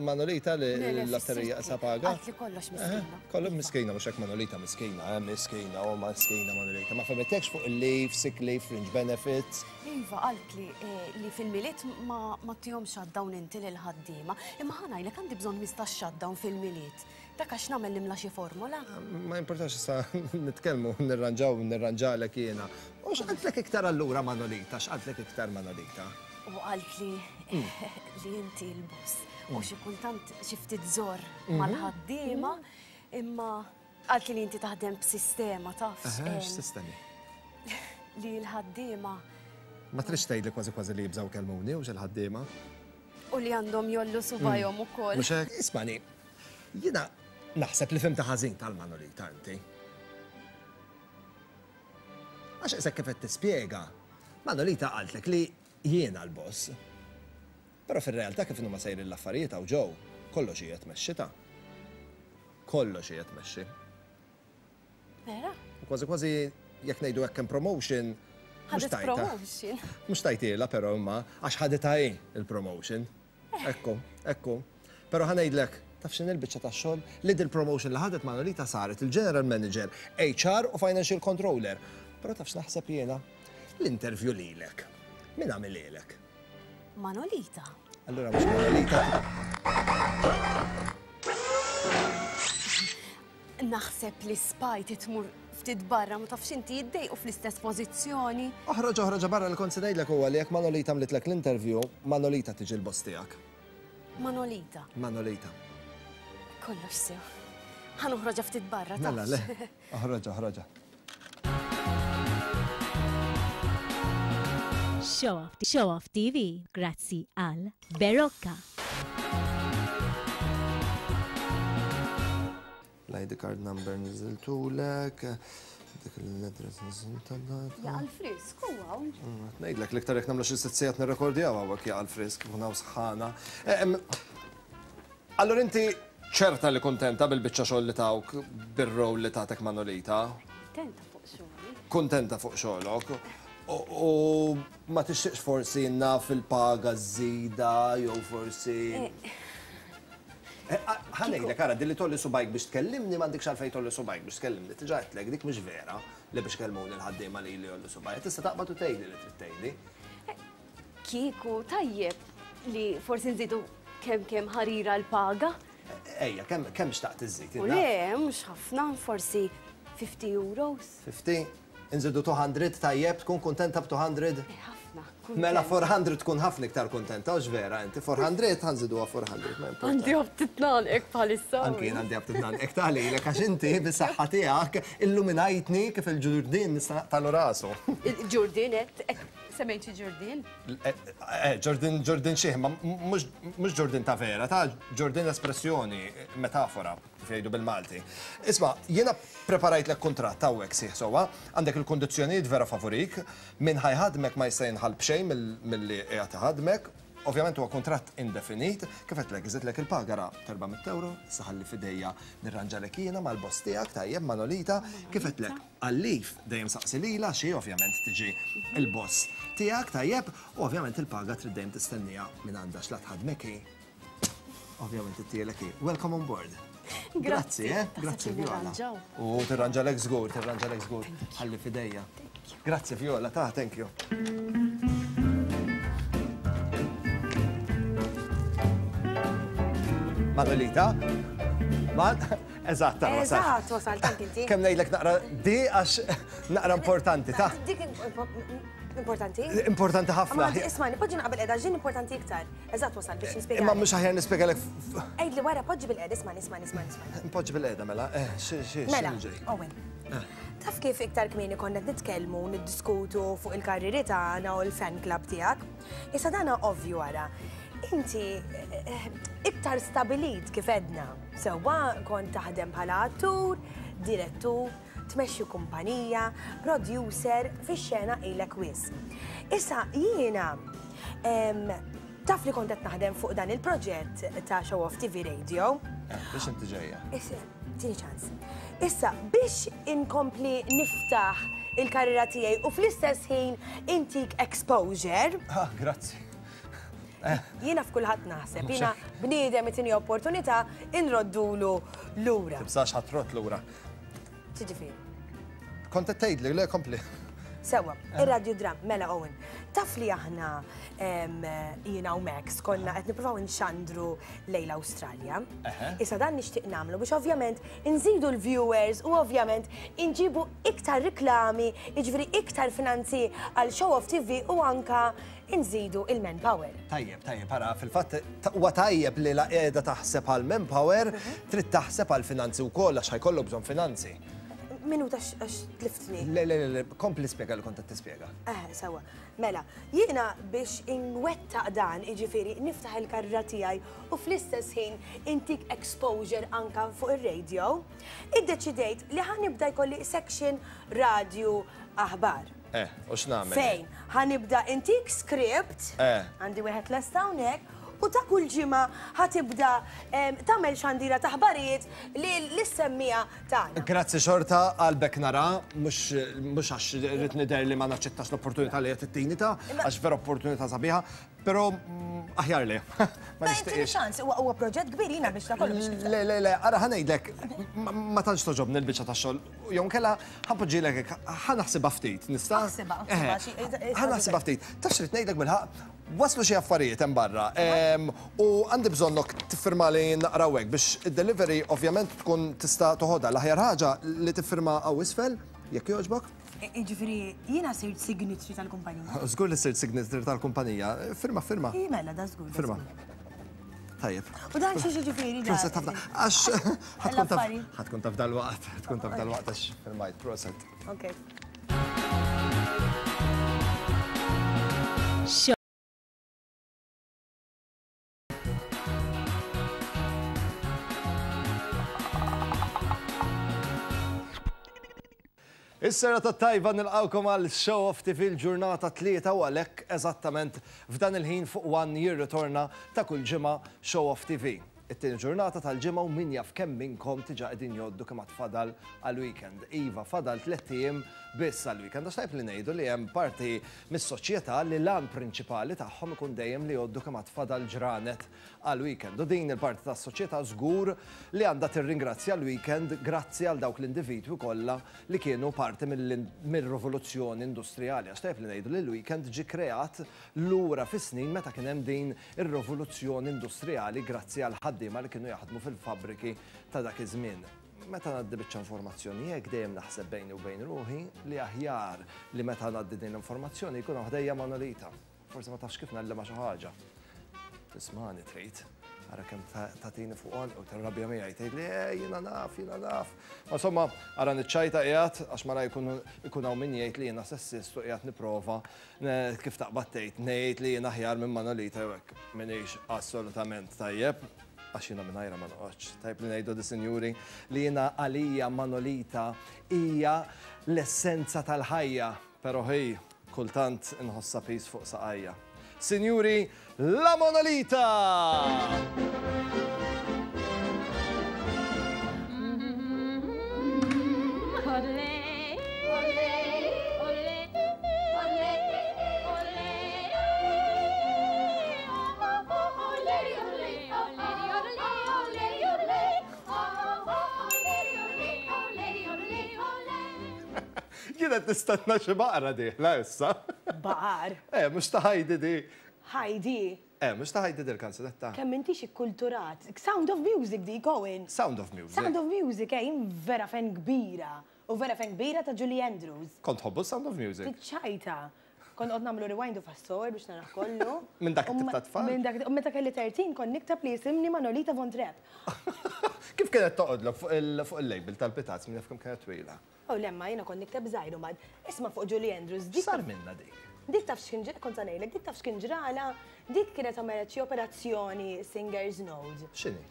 Manolita li l-lotterija sa paga? Għadli kollox miskina. Kollox miskina, mhux hekk Manolita miskina, eh, miskina, u miskina Manolita. Ma fehmetekx fuq il-leave, sick leave, fringe benefits. Iva, qaltli li fil-Milied ma ttihomx shutdown inti lill-ħaddiema. Imma ħa ngħidlek għandi bżonn 15 shutdown fil-Milied. Dak għax nagħmel nimla xi formola. Ma jimportax issa nitkellmu, nirranġaw, nirranġalek jiena. U x'qaltlek iktar allura Manolita, x'qaltlek iktar Manolita? U qaltli li inti l-boss u xi kultant xi ftit żorr mal-ħaddiema, imma qaltli li inti taħdem b'sistema tafx. X'sistemi? Li l-ħaddiema. Ma tridx tgħidli kważi kważi li jibżgħu jkellmuni hux il-ħaddiema? U li għandhom jollu subgħajhom ukoll. Mhux hekk? Ismagħni, jiena naħseb li fhimtha ħażin tal-Manolita inti. Għax qisek kif qed tispjega, Manolita qaltlek li jiena l-boss. Però fir-realtà kif inhuma sejrin l-affarijiet hawn ġew, kollox qiegħed mexxi ta'. Kollox qiegħed mexxi. Vera? U kważi kważi jekk ngħidu hekk hemm promotion. Ħadet promotion. Mhux tajtilha però imma għax ħaditha hi il-promotion. Ekku, ekku. Però ħa ngħidlek, taf x'inhi l-biċċa tax-xogħol? Li dil-promotion li ħadet Manolita saret il-General Manager, HR u Financial Controller. Però taf x'naħseb jiena? L-interview lilek. Min għamilhielek? Manolita. Allura mhux Manolita. Naħseb li spy titmur ftit barra ma tafx inti jiddejqu fl-istess pożizzjoni. Oħroġ oħroġ barra li kont se ngħidlek huwa li jekk Manolita għamlitlek l-interview, Manolita tiġi l-boss tiegħek. Manolita. Manolita. Kollox sew. Ħa noħroġha ftit barra tafx. Mela le, oħroġha oħroġha. Show Off, Show Off TV, grazzi għal Berocca. L-ID card number niżiltulek, dik l-address niżiltulek. Jaqa' l-frisk u hawn. Ngħidlek l-iktar jekk nagħmlu xi sitt sigħat nirrekordjaw hawnhekk jaqa' l-frisk, ikun hawn sħana. Allura inti ċerta li kuntenta bil-biċċa xogħol li tawk bir-role li tatek Manolita? Kuntenta fuq xogħli. Kuntenta fuq xogħlok. U ma tixtieqx forsi naf il-paga żżida jew forsi. Ħa ngħidlek, ara, din li tgħolli subgħajk biex tkellimni m'għandikx għalfejn tgħolli subgħajk biex tkellimni. Diġà għedtlek, dik mhix vera li biex ikellmuni l-ħaddiema lili jgħollu subgħajja. Tista' taqbad u tgħidli li trid tgħidli. Kieku tajjeb li forsi nżidu Kemm kemm ħarira l-paga. Ejja, kemm kemm xtaqt iżżid? U le, mhux ħafna, forsi 50 euros. 50? Inżidu 200 tajjeb, tkun kuntenta b'200? Eh, ħafna. Mela 400 tkun ħafna iktar kuntenta, hux vera inti? 400 ħa nżiduha 400, ma importa. Għandi aptit nagħlqek bħalissa. Anki jien għandi aptit nagħlqek ta' lilek għax inti bis-saħħa tiegħek illuminajtni kif il-ġurdien nista' naqtalu rasu. Il-ġurdien qed semmejt xi ġurdien? Eh, ġurdien ġurdien xih, ma mhux ġurdien ta' vera, ta' ġurdien espressjoni, metafora. Kif jgħidu bil-Malti. Isma', jiena preparajtlek kuntratt hawnhekk sieħ sewwa, għandek il-kundizzjonijiet vera favurik, min ħa jħaddmek ma jista' jinħall b'xejn milli qiegħed iħaddmek, ovvjament huwa kuntratt indefinit, kif għedtlek, iżidlek il-paga ra t'400 ewro, issa ħalli f'idejja nirranġalek jiena mal-boss tiegħek, tajjeb, Manolita, kif għedtlek, għal-leave dejjem saqsi lilha għax hi ovvjament tiġi l-boss tiegħek, tajjeb, u ovvjament il-paga trid dejjem tistenniha minn għandha għax la tħaddmek hi. Ovvjament it-tielek hi. Welcome on board. Grazzi, eh? Grazzi, Viola. U tirranġalek żgur, tirranġalek żgur. Ħalli fidejja. Grazzi, Viola, ta' thank you. Manolita? Man, eżatt, wasal. Eżatt, wasal, tant inti. Kemm ngħidlek naqra di għax naqra importanti, ta' Dik importanti? Importanti ħafna. Isma' poġġi naqbel qiegħda ġin importanti iktar. Eżatt wasal biex nispjega. Imma mhux aħjar nispjegalek. Għidli wara poġġi bil-qiegħda, isma' nisma' nisma' nisma'. Npoġġi bil-qiegħda mela, eh, xi xi Mela, Owen. Eh. Taf kif iktar kmieni konna qed nitkellmu niddiskutu fuq il-karriri tagħna u l-fan club tiegħek. Issa dana ovvju wara. Inti eh, iktar stabilit kif edna. Sewwa kont taħdem bħala attur, direttur, tmexxi kumpanija, producer, fix-xena ilek wisq. Issa jiena taf li kont qed naħdem fuq dan il-proġett ta' Show Off TV Radio. Eh, biex inti ġejja. Issa, tini ċans. Issa, biex inkompli niftaħ il-karriera tiegħi u fl-istess ħin intik exposure. Ah, grazzi. Eh. Jiena f'kulħadd naħseb, jiena bniedem itini opportunità inroddulu lura. Tibżax ħatrot lura. Ġifieri. Kont qed tgħidli, le kompli. Sewa, ir-radio dram, mela Owen. Taf li aħna jiena u Max konna qed nippruvaw inxandru lejn l-Awstralja. Issa dan nixtieq nagħmlu biex ovvjament inżidu l-viewers u ovvjament inġibu iktar riklami, jiġifieri iktar finanzi għal Show Off TV u anka inżidu il-manpower. Tajjeb, tajjeb, ara, fil-fatt huwa tajjeb li la qiegħda taħseb għal manpower, trid taħseb għal finanzi wkoll għax ħajkollok bżonn finanzi. Minuta għax tliftni. Le, le, le, kompli spjega li kont qed tispjega. Eh, sewwa. Mela, jiena biex inwettaq dan, jiġifieri niftaħ il-karriera tiegħi u fl-istess ħin intik exposure anka fuq ir-radio, iddeċidejt li ħa nibda jkolli section radju aħbar. Eh, u x'nagħmel? Fejn ħa nibda intik script, Eh. għandi wieħed lest hawnhekk, u ta' kull ġimgħa ħa tibda tagħmel xandira ta' aħbarijiet lis-semmiegħa tagħna. Grazzi xorta qalbek nara, mhux mhux għax rrid nidher li ma naċċettax l-opportunità li qed ittini ta' għax vera opportunità sabiħa, Però aħjar le. Ma nixtieqx. ċans, huwa proġett kbir jiena biex ta' kollox. Le, le, le, ara ħa ngħidlek, ma tantx toġobni l-biċċa tax-xogħol. Jew inkella ħa npoġġilek hekk, ħa naħsibha ftit, nista'? Aħsibha, aħsibha. Ħa naħsibha ftit. Taf x'rid ngħidlek bilħaqq? Waslu xi affarijiet hemm barra u għandi bżonnok tiffirmali naqra hawnhekk biex id-delivery ovvjament tkun tista' toħodha. L-aħjar ħaġa li tiffirma hawn isfel, jekk jogħġbok. Jiġifieri jiena sirt signatory tal-kumpanija. Żgur li sirt signatory tal-kumpanija. Firma, firma. Ii mela, da żgur. Firma. Tajjeb. U dan xi jiġifieri dan? Proset ħafna. Għax ħatkun taf ħatkun taf dal-waqt, ħatkun taf dal-waqt għax firmajt, proset. Ok. Is-serata t-tajba nilqgħukom għal Show Off TV l-ġurnata Tlieta u għalhekk eżattament f'dan il-ħin fuq One jirritorna ta' kull ġimgħa Show Off TV. It-tieni ġurnata tal-ġimgħa u min jaf kemm minnkom diġà qegħdin jgħoddu kemm għad fadal għall-weekend. Iva, fadal tlett ijiem biss għall-weekend. Għax tajjeb li ngħidu li hemm parti mis-soċjetà li l-għan prinċipali tagħhom ikun dejjem li jgħoddu kemm għad fadal ġranet għall-weekend. U din il-parti tas-soċjetà żgur li għandha tirringrazzja l-weekend grazzi għal dawk l-individwi kollha li kienu parti mir-rivoluzzjoni industrijali. Għax tajjeb li ngħidu li l-weekend ġie kreat lura fis-snin meta kien hemm din ir-rivoluzzjoni industrijali grazzi għall-ħaddiema li kienu jaħdmu fil-fabbriki ta' dak iż-żmien. Meta ngħaddi biċċa informazzjoni hekk dejjem naħseb bejni u bejn ruħi li aħjar li meta ngħaddi din l-informazzjoni jkun hawn ħdejja Manolita. Forsi ma tafx kif ngħallimha xi ħaġa. Tismagħni trid. Ara kemm tagħtini fuq għonqi u tirrabja miegħi tgħidli eh jiena naf, jiena naf. Ma insomma, ara niċċajta qiegħed għax mara jkun ikun hawn min jgħid li jiena sessist u qiegħed nipprova kif taqbad tgħid ngħid li jien aħjar minn Manolita jew hekk. M'iniex assolutament tajjeb għax jiena mingħajrha ma noqgħodx. Tajjeb li ngħidu di sinjuri li jiena għalija Manolita hija l-essenza tal-ħajja. Pero hi, kultant inħossha piż fuq saqajja. Sinjuri, La Monolita! Jien qed nistenna xi baqra dieħla issa. Baqar? Eh, mhux ta' Heidi di. Heidi? Eh, mhux ta' Heidi dil-kanzunetta. Kemm intix ikkulturat. Sound of Music dik, Owen. Sound of Music. Sound of Music, eh, jien vera fan kbira. U vera fan kbira ta' Julie Andrews. Kont tħobbu Sound of Music? Tiċċajta. Kont noqgħod nagħmlu rewind u fast forward biex narah kollu. Minn dak it-tip ta' tfal? Minn dak, u meta kelli 13 kont nikteb li jisimni Manolita Von Trapp. Kif kienet toqgħodlok fuq il-label tal-pitazz, min jaf kemm kienet twila? Oh le ma jiena kont nikteb żgħir u mbagħad isma' fuq Julie Andrews dik. X'sar minnha dik? Dik taf x'kien ġra, kont sa ngħidlek, dik taf x'kien ġralha, dik kienet għamlet xi operazzjoni Singer's Node. X'inhi?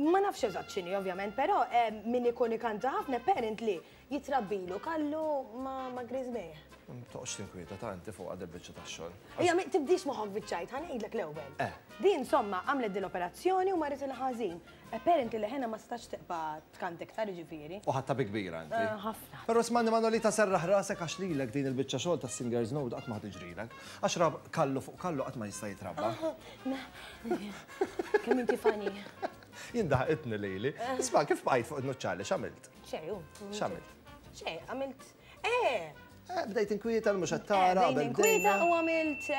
Ma nafx eżatt x'inhi ovvjament, però min ikun ikanta ħafna apparently jitrabbilu kallu ma' griżmejh. Toqgħodx tinkwieta ta' inti fuqha dil-biċċa tax-xogħol. Ejja, tibdix moħħok biċ-ċajt, ħa ngħidlek l-ewwel. Eh. Din insomma għamlet dil-operazzjoni u marret il-ħażin. Apparently leħenha ma setax tibqa' tkanta iktar jiġifieri. U ħadtha bi kbira inti. Ħafna. Però ismagħni Manolita serraħ rasek għax lilek din il-biċċa xogħol tas-Singers Note qatt ma ħa tiġrilek. Għax rab kallu fuq kallu qatt ma jista' jitrabba. Kemm inti funny. Jien daħqitni lili. Isma' kif bqajt fuq in-nuċċali x'għamilt? Xejn hu. X'għamilt? Xejn, għamilt. Eh! Bdejt inkwieta l mhux qed tara. Bdejt inkwieta u għamilt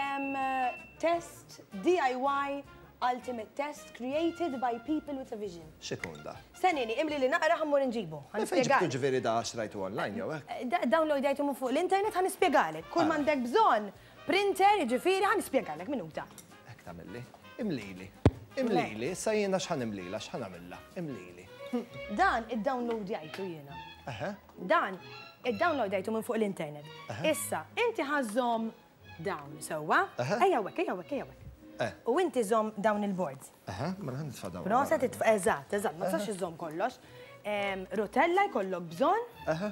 test DIY Ultimate test created by people with a vision. X'ikun da? Stennieni, imli li naqra ħa mmur inġibu. Ħa Minn fejn ġibtu ġifieri da xtrajtu online jew hekk? Downloadjajtu minn fuq l-internet ħa nispjegalek. Kull m'għandek bżonn printer, jiġifieri ħa nispjegalek minuta. Hekk tagħmilli. Imlili. Imlili, issa jiena x'ħa nimlilha, x'ħa nagħmilha? Imlili. Dan iddownloadjajtu jiena. Eħe. Dan iddownloadjajtu minn fuq l-internet. Issa, inti ħa żżomm Dawn, sewwa? Ejja hawnhekk, ejja hawnhekk, ejja hawnhekk. Eh. U inti żomm dawn il-boards. Eħe, mela ħa nitfa' dawn. Proset, titfa' eżatt, eżatt, ma tistax iżżomm kollox. Rotella jkollok bżonn. Eħe.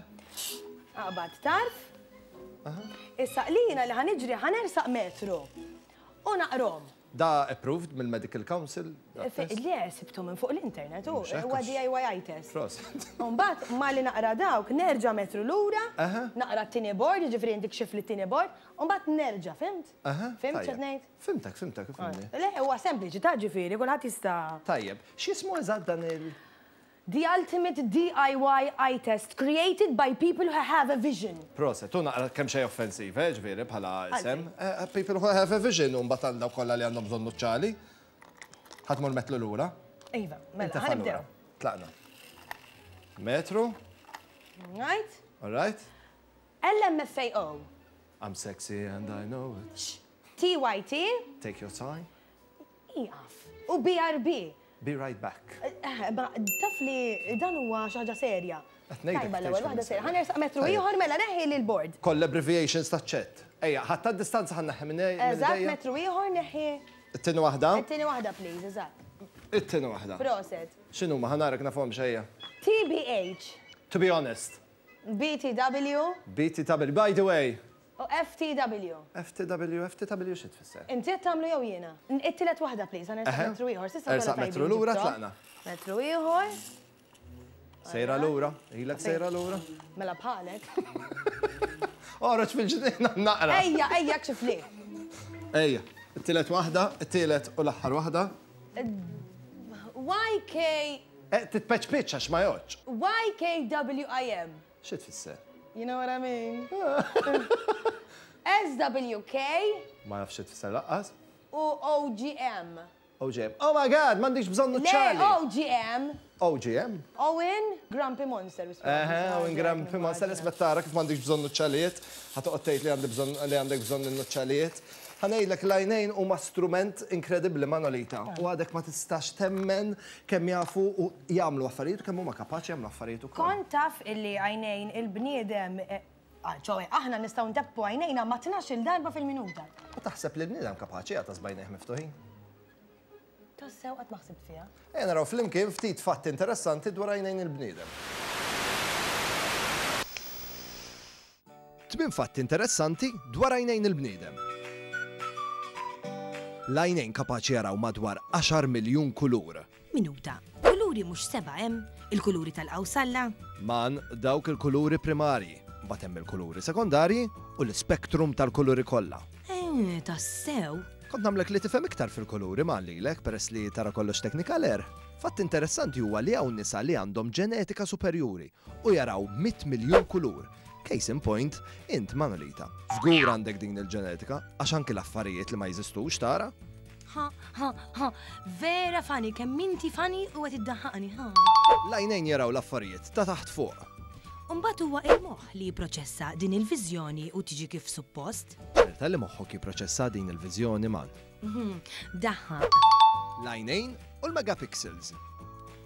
Aqbad tarf. Issa lina li ħa niġri ħa nersaq metru u naqrom. Da approved mill-Medical Council? Le, sibtu minn fuq l-internet, u huwa DIY test. Proset. U mbagħad malli naqra dawk, nerġa' metru lura, naqra t-tieni board, jiġifieri intik xifli t-tieni board, u mbagħad nerġa', fimt? Fimt x'qed ngħid? Fimtek, fimtek, fimni. Le, huwa sempliċi, ta' ġifieri, kulħadd jista'. Tajjeb, x'jismu eżatt dan il- The ultimate DIY eye test created by people who have a vision. Proset, hu naqra kemm xejn offensiv, eh, ġifieri bħala isem. People who have a vision u mbagħad għal dawk kollha li għandhom bżonn nuċċali. Ħa tmur metlu lura? Iva, mela, ħa nibdew. Tlaqna. Metru. Right. All right. LMFAO. I'm sexy and I know it. TYT. Take your time. Ieqaf. U BRB. Be right back. Ma taf li dan huwa xi ħaġa serja. Qed ngħidlek Tajba l-ewwel tgħidx waħda serja. serja. Ħa nersaq metru ieħor mela neħħi lil board. Koll abbreviations taċ-chat. Ejja, ħadd tad-distanza ħa nneħħi minn Eżatt, idejja. metru ieħor neħħi. It-tieni waħda? It-tieni waħda please, eżatt. It-tieni waħda. Proset. X'inhuma ħa narak nafhomx ejja. TBH. To be honest. BTW. BTW. By the way. U FTW. FTW, FTW xi tfisser? Inti qed tagħmlu jew jiena? It-tielet waħda please, ħa nersaq metru ieħor. S'issa Ersaq metru lura tlaqna. Metru ieħor. Sejra lura, ilek sejra lura. Mela bħalek. Oħroġ fil-ġnien naqra. Ejja, ejja kxifli. Ejja, it-tielet waħda, it-tielet u l-aħħar waħda. YK. Eh, titpeċ għax ma jgħodx. YKWIM. Xi tfisser? You know what I mean? SWK. Ma nafx xi tfisser laqqas. U OGM. OGM. Oh my God, m'għandix bżonn nuċċali. Le, OGM. OGM? Owen Grumpy Monster. Eħe, Owen Grumpy Monster, isma' tara kif m'għandix bżonn nuċċalijiet. Ħa toqgħod tgħid li għandi bżonn li għandek bżonn in-nuċċalijiet. Ħa ngħidlek l-għajnejn huma strument inkredibbli Manolita u għadek ma tistax temmen kemm jafu u jagħmlu affarijiet u kemm huma kapaċi jagħmlu affarijiet ukoll. Kont taf illi għajnejn il-bniedem, ċoe aħna nistgħu nteppu għajnejna ma' tnax-il darba fil-minuta. U taħseb li l-bniedem kapaċi jagħtas b'għajnejh miftuħin? Tassew qatt ma ħsibt fiha. Ejja naraw flimkien ftit fatti interessanti dwar għajnejn il-bniedem. Tmien fatti interessanti dwar għajnejn il-bniedem. L-għajnejn kapaċi jaraw madwar għaxar miljun kulur. Minuta. Kuluri mhux sebgħa hemm? Il-kuluri tal-qawsalla? Man, dawk il-kuluri primarji. Mbagħad hemm il-kuluri sekondarji u l-ispektrum tal-kuluri kollha. Eh, tassew? Kont nagħmlek li tifhem iktar fil-kuluri man lilek peress li tara kollox technicolor. Fatt interessanti huwa li hawn nisa li għandhom ġenetika superjuri u jaraw 100 miljun kulur. Case in point, int Manolita. Żgur għandek din il-ġenetika, għax anki l-affarijiet li ma jeżistux tara. Ha, ha, ha, vera funny, kemm inti funny u qed iddaħħaqni, ha. L-għajnejn jaraw l-affarijiet ta' taħt fuq. U mbagħad huwa il-moħħ li jipproċessa din il-viżjoni u tiġi kif suppost. Ċerta li moħħok jipproċessa din il-viżjoni, Man. Daħħaq. L-għajnejn u l-megapixels.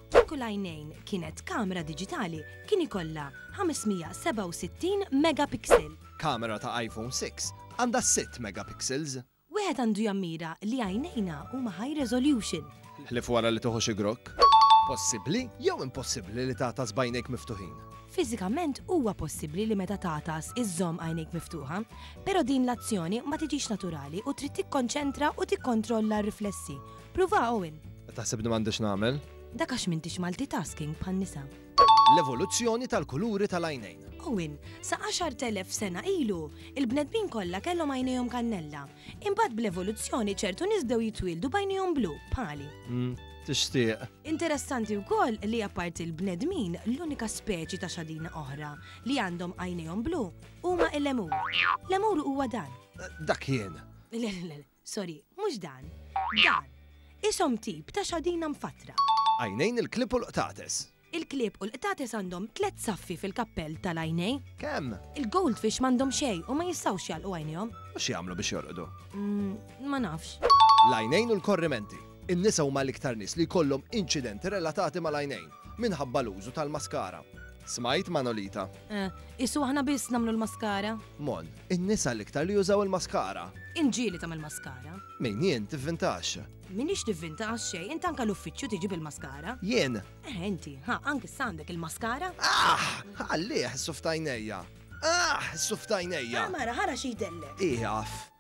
Kieku l-għajnejn kienet kamera diġitali kien ikollha 567 megapixel. Kamera ta' iPhone 6 għandha sitt megapixels. Wieħed għandu jammira li għajnejna huma high resolution. Ħlief wara li tieħu xi grokk. Possibbli jew impossibbli li tagħtas b'għajnejk miftuħin? Fiżikament huwa possibbli li meta tagħtas iżżomm għajnejk miftuħa, però din l-azzjoni ma tiġix naturali u trid tikkonċentra u tikkontrolla r-riflessi. Pruva Owen! Taħseb li m'għandix nagħmel? Dak għax m'intix multitasking bħan-nisa. L-evoluzzjoni tal-kuluri tal-għajnejn. Owen, sa 10,000 sena ilu, il-bnedmin kollha kellhom għajnejhom kannella. Imbagħad bl-evoluzzjoni ċertu nies bdew jitwieldu b'għajnejhom blu, bħali. Tixtieq. Interessanti wkoll li apparti l-bnedmin, l-unika speċi ta' xadina oħra li għandhom għajnejhom blu huma il-lemur. Lemur huwa dan. Dak jien. Le, le, le, sorry, mhux dan. Dan. Ishom tip ta' xadina mfattra. Għajnejn il-klieb u l-qtates. Il-klieb u l-qtates għandhom tlett saffi fil-kappell tal-għajnejn. Kemm? Il-goldfish m'għandhom xejn u ma jistgħux jagħlqu għajnejhom. U x'jagħmlu biex jorqdu? Ma nafx. L-għajnejn u l-korrimenti. In-nisa huma l-iktar nies li jkollhom inċidenti relatati mal-għajnejn minħabba l-użu tal-maskara. Smajt Manolita? Eh, isu aħna biss nagħmlu l-maskara. Mon, in-nisa l-iktar li jużaw il-maskara. Inġieli tagħmel maskara. Min jien tivvintax. Minix nivvinta għax xejn, int anka l-uffiċċju tiġi bil-maskara. Jien? Eh, inti, ha, anki issa għandek il-maskara. Ah, ħallih is-suf t'għajnejja. Ah, is-suf t'għajnejja. Ah, mara, ħara xi jdellek. Ieqaf.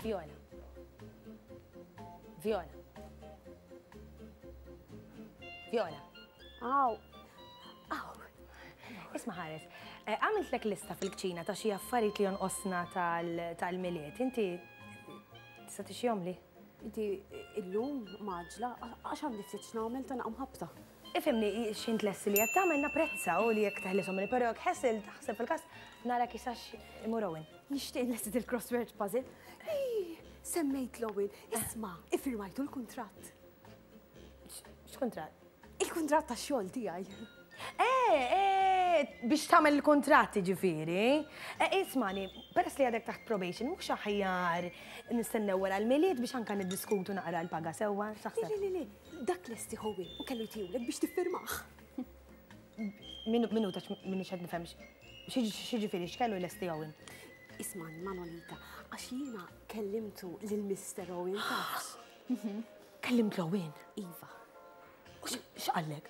Viola. Viola. Viola. Aw. Aw. Isma' ħares, eh, għamiltlek lista fil-kċina ta' xi affarijiet li jonqosna tal-milied. Inti tista' tixjihomli? Inti illum maġla, għax għandi ftit x'nagħmel ta' naqam ħabta. Ifhimni, x'int lesti li qed tagħmel napprezza u li jekk teħlishom li però jekk ħesil taħseb fil-każ nara kisax imur Owen. Nixtieq nlesti il-crossword puzzle. Ej, semmejt l-Owen. Isma', iffirmajtu l-kuntratt. X'kuntratt? Il-kuntratt tax-xogħol tiegħi. Eh, eh, biex tagħmel il-kuntratt jiġifieri. Eh, ismani, peress li għadek taħt probation, mhux aħjar nistennew wara l-Milied biex anka niddiskutu naqra l-paga sewwa, x'taħseb? Le, le, le, dak lesti Owen u kellu jtihulek biex tiffirmah. Minuta minix qed nifhem x'jiġifieri x'kellu jlesti Owen? Ismagħni, Manolita, għax jiena kellimtu lil Mister Owen tafx. Kellimt l-Owen? Iva. U x'qallek?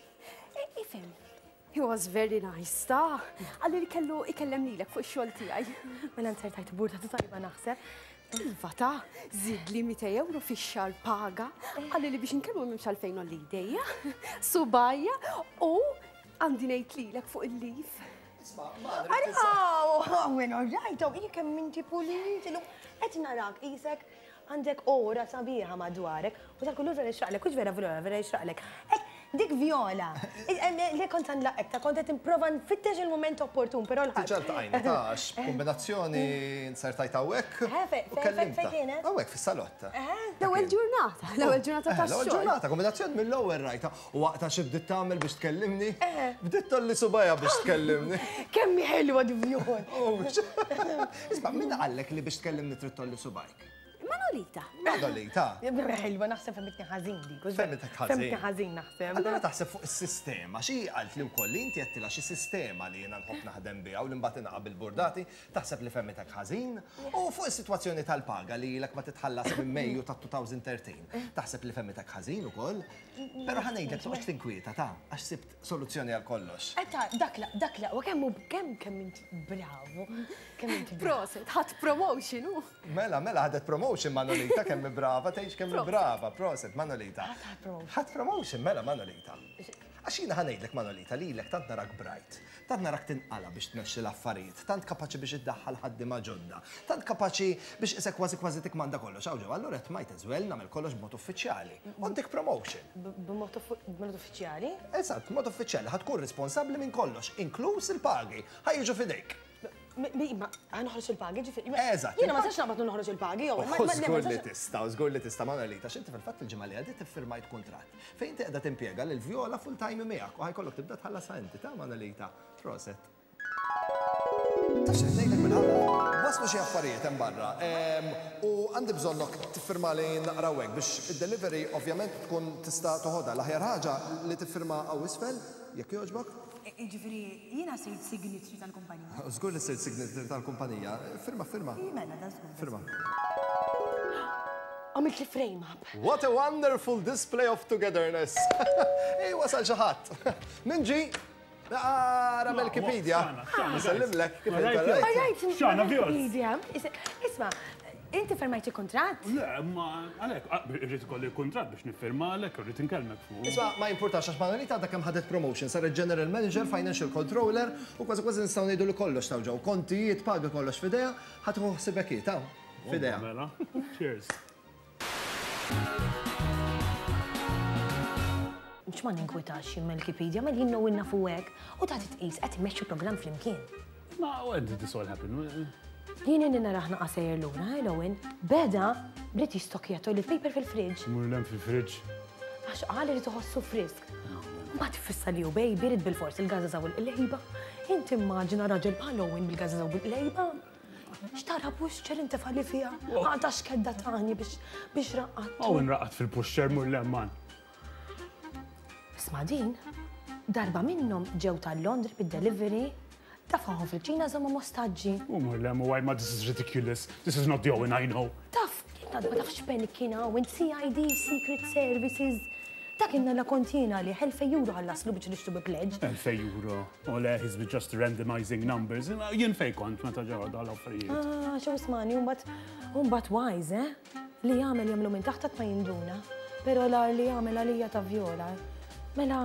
Ifhem, he was very nice, ta' qalli li kellu ikellem lilek fuq ix-xogħol tiegħi. Mela nsertajt burda tajba naħseb. Iva ta' żidli 200 euro fix-xahar paga, qalli li biex inkellmu m'hemmx għalfejn ngħolli jdejja, subgħajja u għandi ngħid lilek fuq il-leave. Owen, all right, oh, kemm inti pulit, illum qed narak qisek għandek ora sabiħa madwarek u tal-kulur vera jixraqlek, hux vera vera vera jixraqlek. Dik Viola, li kont għandlaqek ta' kont qed nipprova nfittex il-mument opportun, però l-ħadd. Diġà ltaqajna ta' għax b'kombinazzjoni nsertajt hawnhekk. Fejn fejn kienet? Hawnhekk fis-salott. L-ewwel ġurnata, l-ewwel ġurnata tax-xogħol. L-ewwel ġurnata, kombinazzjoni mill-ewwel rajtha. U waqtha xi bdiet tagħmel biex tkellimni? Bdiet tgħolli subgħajha biex tkellimni. Kemm hi ħelwa di Viola. Isma' min qallek li biex tkellimni trid tgħolli subgħajk? Manolita. Manolita. Ħelwa naħseb fehmitni ħażin dik. Fehmitek ħażin. Fehmitni ħażin naħseb. Allura taħseb fuq is-sistema, xi qalt li wkoll li inti għedtilha xi sistema li jiena nħobb naħdem biha u li mbagħad ingħaqab il-burdati, taħseb li fehmitek ħażin? U fuq is-sitwazzjoni tal-paga li ilek ma titħallas minn Mejju ta' 2013, taħseb li fehmitek ħażin ukoll? Però ħa ngħidlek toqgħodx tinkwieta ta' għax sibt soluzzjoni għal kollox. Etta, dak la, dak la, u kemm kemm kemm int bravu, kemm int Proset, ħadt promotion hu. Mela, mela, ħadet promotion Manolita, kemm brava, tgħix kemm brava, proset Manolita. Ħadd promotion. Ħadd promotion, mela Manolita. Għax jiena ħa ngħidlek Manolita lilek tant narak bright, tant narak tinqala biex tmexxi l-affarijiet, tant kapaċi biex iddaħħal ħaddiema ġodda, tant kapaċi biex isek kważi kważi tikmanda kollox. Hawn ġew, allura qed might as well nagħmel kollox b'mod uffiċjali. U ntik promotion. B'mod uffiċjali? Eżatt, b'mod uffiċjali ħa tkun responsabbli minn kollox, inkluż il-pagi, ħa jiġu f'idejk. Ma noħroġ il-pagi, ġifieri. Eżatt. Jiena ma nistax naqbad u noħroġ il-pagi, jew. Żgur li tista', żgur li tista' Manolita, x'inti fil-fatt il-ġimgħa li għaddiet iffirmajt kuntratt fejn inti qiegħda timpjega lil Viola full time miegħek u ħajkollok tibda tħallasha inti ta' Manolita. Proset. Taf x'qed ngħidlek bil-ħaqq? Waslu xi affarijiet hemm barra u għandi bżonnok tiffirmali naqra hawnhekk biex id-delivery ovvjament tkun tista' toħodha. L-aħjar ħaġa li tiffirma hawn isfel, jekk jogħġbok. Jiġifieri jiena sirt signatory tal-kumpanija. Żgur li sirt signatory tal-kumpanija. Firma, firma. Mela, da żgur. Firma. Għamilt li frame up. What a wonderful display of togetherness. Ej, wasal xi ħadd. Min ġi? Ara Melkipedia. Nsellimlek kif inti. Xana, Viola. Isma', inti firmajt il-kuntratt? Le, ma għalhekk, irrid ikolli l-kuntratt biex niffirma għalhekk irrid inkellmek fuq. Isma' ma jimpurtax għax Manolita għadha kemm ħadet promotion, saret general manager, financial controller u kważi kważi nistgħu ngħidu li kollox taw ġew kontijiet, paga kollox f'idejha, ħa tieħu ħsiebek hi, taw, f'idejha. Mela, cheers. Mhux ma ninkwitax jien Melkipedia, ma jien nowin nafu hekk u ta' titqis qed immexxu programm flimkien. Ma when did this all happen? Jien inni narah naqa' sejjer lura, eh, Owen? Beda bdiet jistokja toilet paper fil-fridge. Mur 'l hemm fil-fridge. Għax qal irid iħossu frisk. Mbagħad iffissa li hu baby irid bilfors il-gażaża u l-qlejba. Inti immaġina raġel bħal Owen bil-gażaża u bil-qlejba. Xtara pushchair intefa' li fiha. Għadha x'kedda tani biex biex raqqadtu. Owen raqad fil-pushchair mur 'l hemm man. Isma' din, darba minnhom ġew tal-Londri bid-delivery Tafahom fil-ċina żommhom ostaġġi. U mur le mu ma this is ridiculous. This is not the Owen I know. Taf, ma tafx panic kien hawn, CID, Secret Services. Dak inna la kont jiena li 2000 euro ħallaslu biex nixtru bi pledge. 2000 euro. U le, he's been just randomizing numbers. Jien fej kont meta ġew dal-affarijiet. Ah, xew ismani, u mbagħad wise, eh? Li jagħmel jagħmlu minn taħt ma jinduna. Però l-agħar li jagħmel għalija ta' Viola. Mela,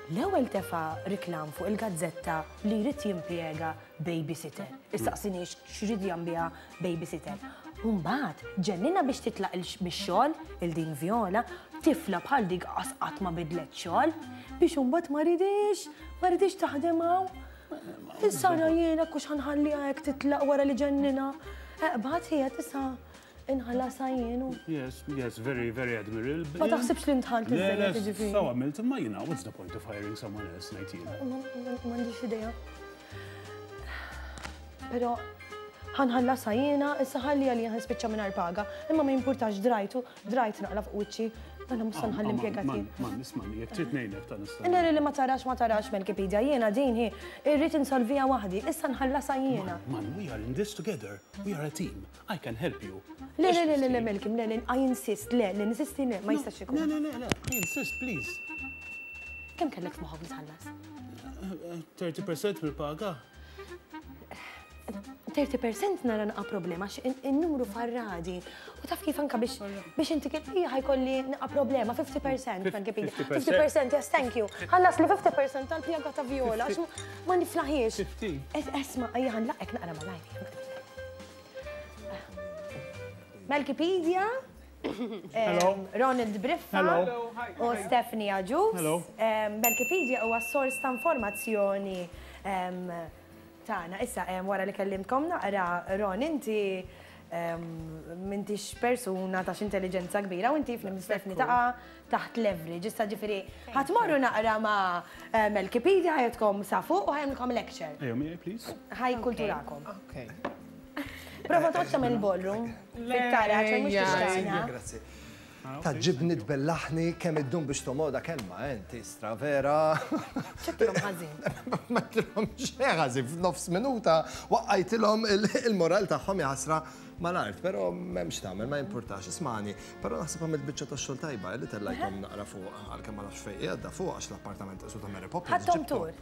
L-ewwel tefa' riklam fuq il-gazzetta li jrid jimpjega babysitter. Issaqsinix x'ried jagħmel biha babysitter. U mbagħad ġenninha biex titlaq mix-xogħol, il din Viola, tifla bħal dik qas qatt ma bidlet xogħol, biex imbagħad ma ridix, ma ridix taħdem hawn. Issa ara jiena kux ħa nħalliha hekk titlaq wara li ġenninha. Eqbad qiegħed issa Inħallasha jien u. Yes, yes, very, very admirable. Ma taħsibx li ntħalt iżżejjed jiġifieri. Saw għamilt, imma jiena, what's the point of hiring someone else ngħid jien? M'għandix idea. Però ħanħallasha jiena, issa ħalli għalija ħnispiċċa mingħajr paga, imma ma jimpurtax drajtu, drajt naqla fuq wiċċi. Għana mhux se nħalli impjegati. Man, ismani, jekk trid ngħinek ta' nista'. Nara li ma tarax ma tarax Melkipedia, jiena din hi, irrid insolviha waħdi, issa nħallasha jiena. Man, we are in this together. We are a team. I can help you. Le, le, le, le, le, Melkim, le, le, I insist, le, le, ninsisti, le, ma jistax ikun. Le, le, le, le, I insist, please. Kemm kellek f'moħħok li tħallas? 30% mill-paga. 30% nara naqa problema, għax in-numru farradi. U taf kif anka biex biex inti kif hija ħajkolli naqa problema, 50% Melkipedia. 50%, yes, thank you. Ħallas li 50% tal-pjaga ta' Viola, għax ma niflaħiex. 50. Esma, ejja ħanlaqek naqra malajr. Melkipedia, Ronald Briffa u Stephanie Agius. Melkipedia huwa sors ta' informazzjoni tagħna. Issa wara li kellimtkom naqra, Ron, inti m'intix persuna ta' intelligenza kbira u inti flim Stephanie taqa' taħt leverage. Issa ġifieri ħa tmorru naqra ma' Melkipedia ħa jagħtkom sa fuq u ħa jagħmlilkom lecture. Ejja miegħi please. Ħa jkulturakom. Okay. Prova toqgħodx tagħmel il-ballroom fit-taraġ għax mhux tixtaqna. Grazzi. Tgħaġġibni tbellaħni kemm iddum biex tomoda kelma, eh, inti stra vera. Ċettilhom ħażin. Ma tilhom xejn ħażin f'nofs minuta waqqajtilhom il-moral tagħhom jaħasra mal-art, però m'hemmx tagħmel, ma jimpurtax, ismani. Però naħseb għamilt biċċa ta' xogħol tajba li tellajthom naqra fuq għalkemm ma nafx fejn qiegħda fuq għax l-appartament qisu ta' Mary Poppins. Ħadthom tur.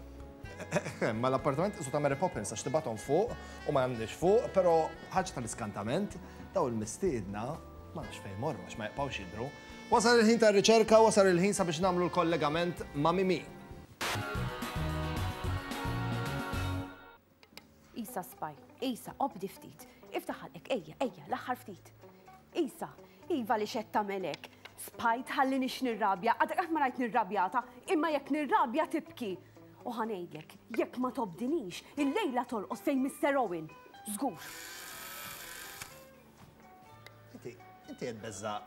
Ma l-appartament qisu ta' Mary Poppins għax tibgħathom fuq u ma jagħmlix fuq, però ħaġa tal-iskantament daw il-mistiedna ma nafx fejn morru għax ma jibqgħux jidhru. Wasal il-ħin tar-riċerka, wasal il-ħin sabiex nagħmlu l-kollegament ma' Mimi. Isa spaj, Isa, obdi ftit. Iftaħ ħalqek, ejja, ejja, l-aħħar ftit. Isa, iva li xed tagħmel hekk. Spaj tħallinix nirrabja, għadek qatt ma rajt nirrabjata, imma jekk nirrabja tibki. U ħa ngħidlek, jekk ma tobdinix, illejla torqos fejn Mister Owen. Żgur. Inti, inti qed beża'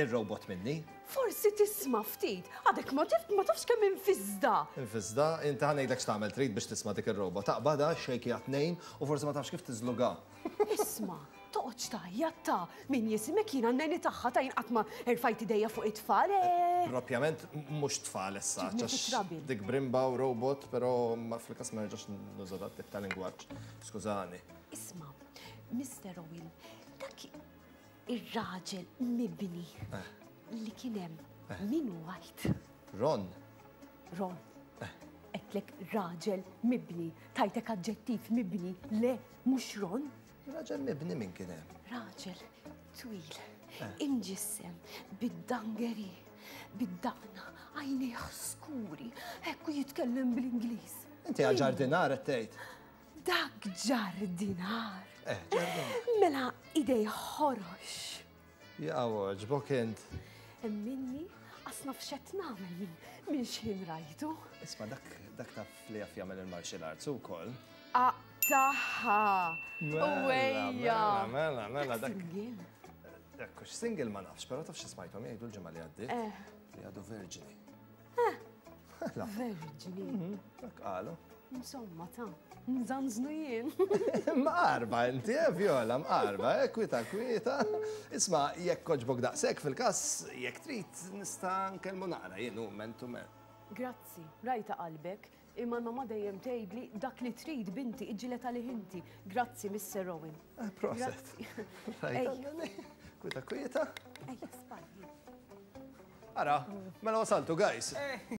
ir-robot minni? Forsi tisma' ftit, għadek ma tif ma tafx kemm infiżda. Infiżda, inti ħa ngħidlek x'tagħmel trid biex tisma' dik ir-robot. Taqbadha, xejkiha tnejn u forsi ma tafx kif tiżlugha. Isma', toqgħodx tgħajjat ta' min jisimek jiena n-neni tagħha ta' jien qatt ma erfajt idejja fuq it-tfal, eh. Propjament mhux tfal issa, Ġibni għax fi trouble. dik brimba u robot, però fil-każ ma nerġax nuża dat tip ta' lingwaġġ. Skużani. Isma', Mister Owen, dak ir-raġel mibni li kien hemm, min hu għid? Ron. Ron. Għedtlek raġel mibni, tajtek aġġettiv mibni, le, mhux Ron. Raġel mibni min kien hemm? Raġel twil, imġissem, bid-dangeri, bid-daqna, għajnejh skuri, hekk u jitkellem bl-Ingliż. Inti għal ġardinar qed tgħid? Dak ġardinar. Ġardinar. Mela idej ħorox. Jaqaw, għoġbok int. Minni, qas naf x'qed nagħmel minn x'ħin rajtu. Isma' dak taf li jaf jagħmel il-martial arts ukoll. Aqtaħħa. Mela, Uwejja. mela, mela, dak. Single. Dak hux single ma nafx, però taf xi smajthom jgħidu l-ġimgħa li għaddiet? Li għadu verġini. Mela. Verġini. Dak qalu. Insomma, ta' nżanżnu jien. Mqarba inti, Viola, mqarba, kwita, kwita. Isma', jekk oġbok daqshekk fil-każ, jekk trid nista' nkellmu naqra jien hu man to man. Grazzi, rajta qalbek, imma l-mamma dejjem tgħidli dak li trid binti iġġieled għalih inti. Grazzi, Mister Owen. Proset. Grazzi. Rajta, kwita, kwita. Ejja, spalli. Ara, mela wasaltu, guys.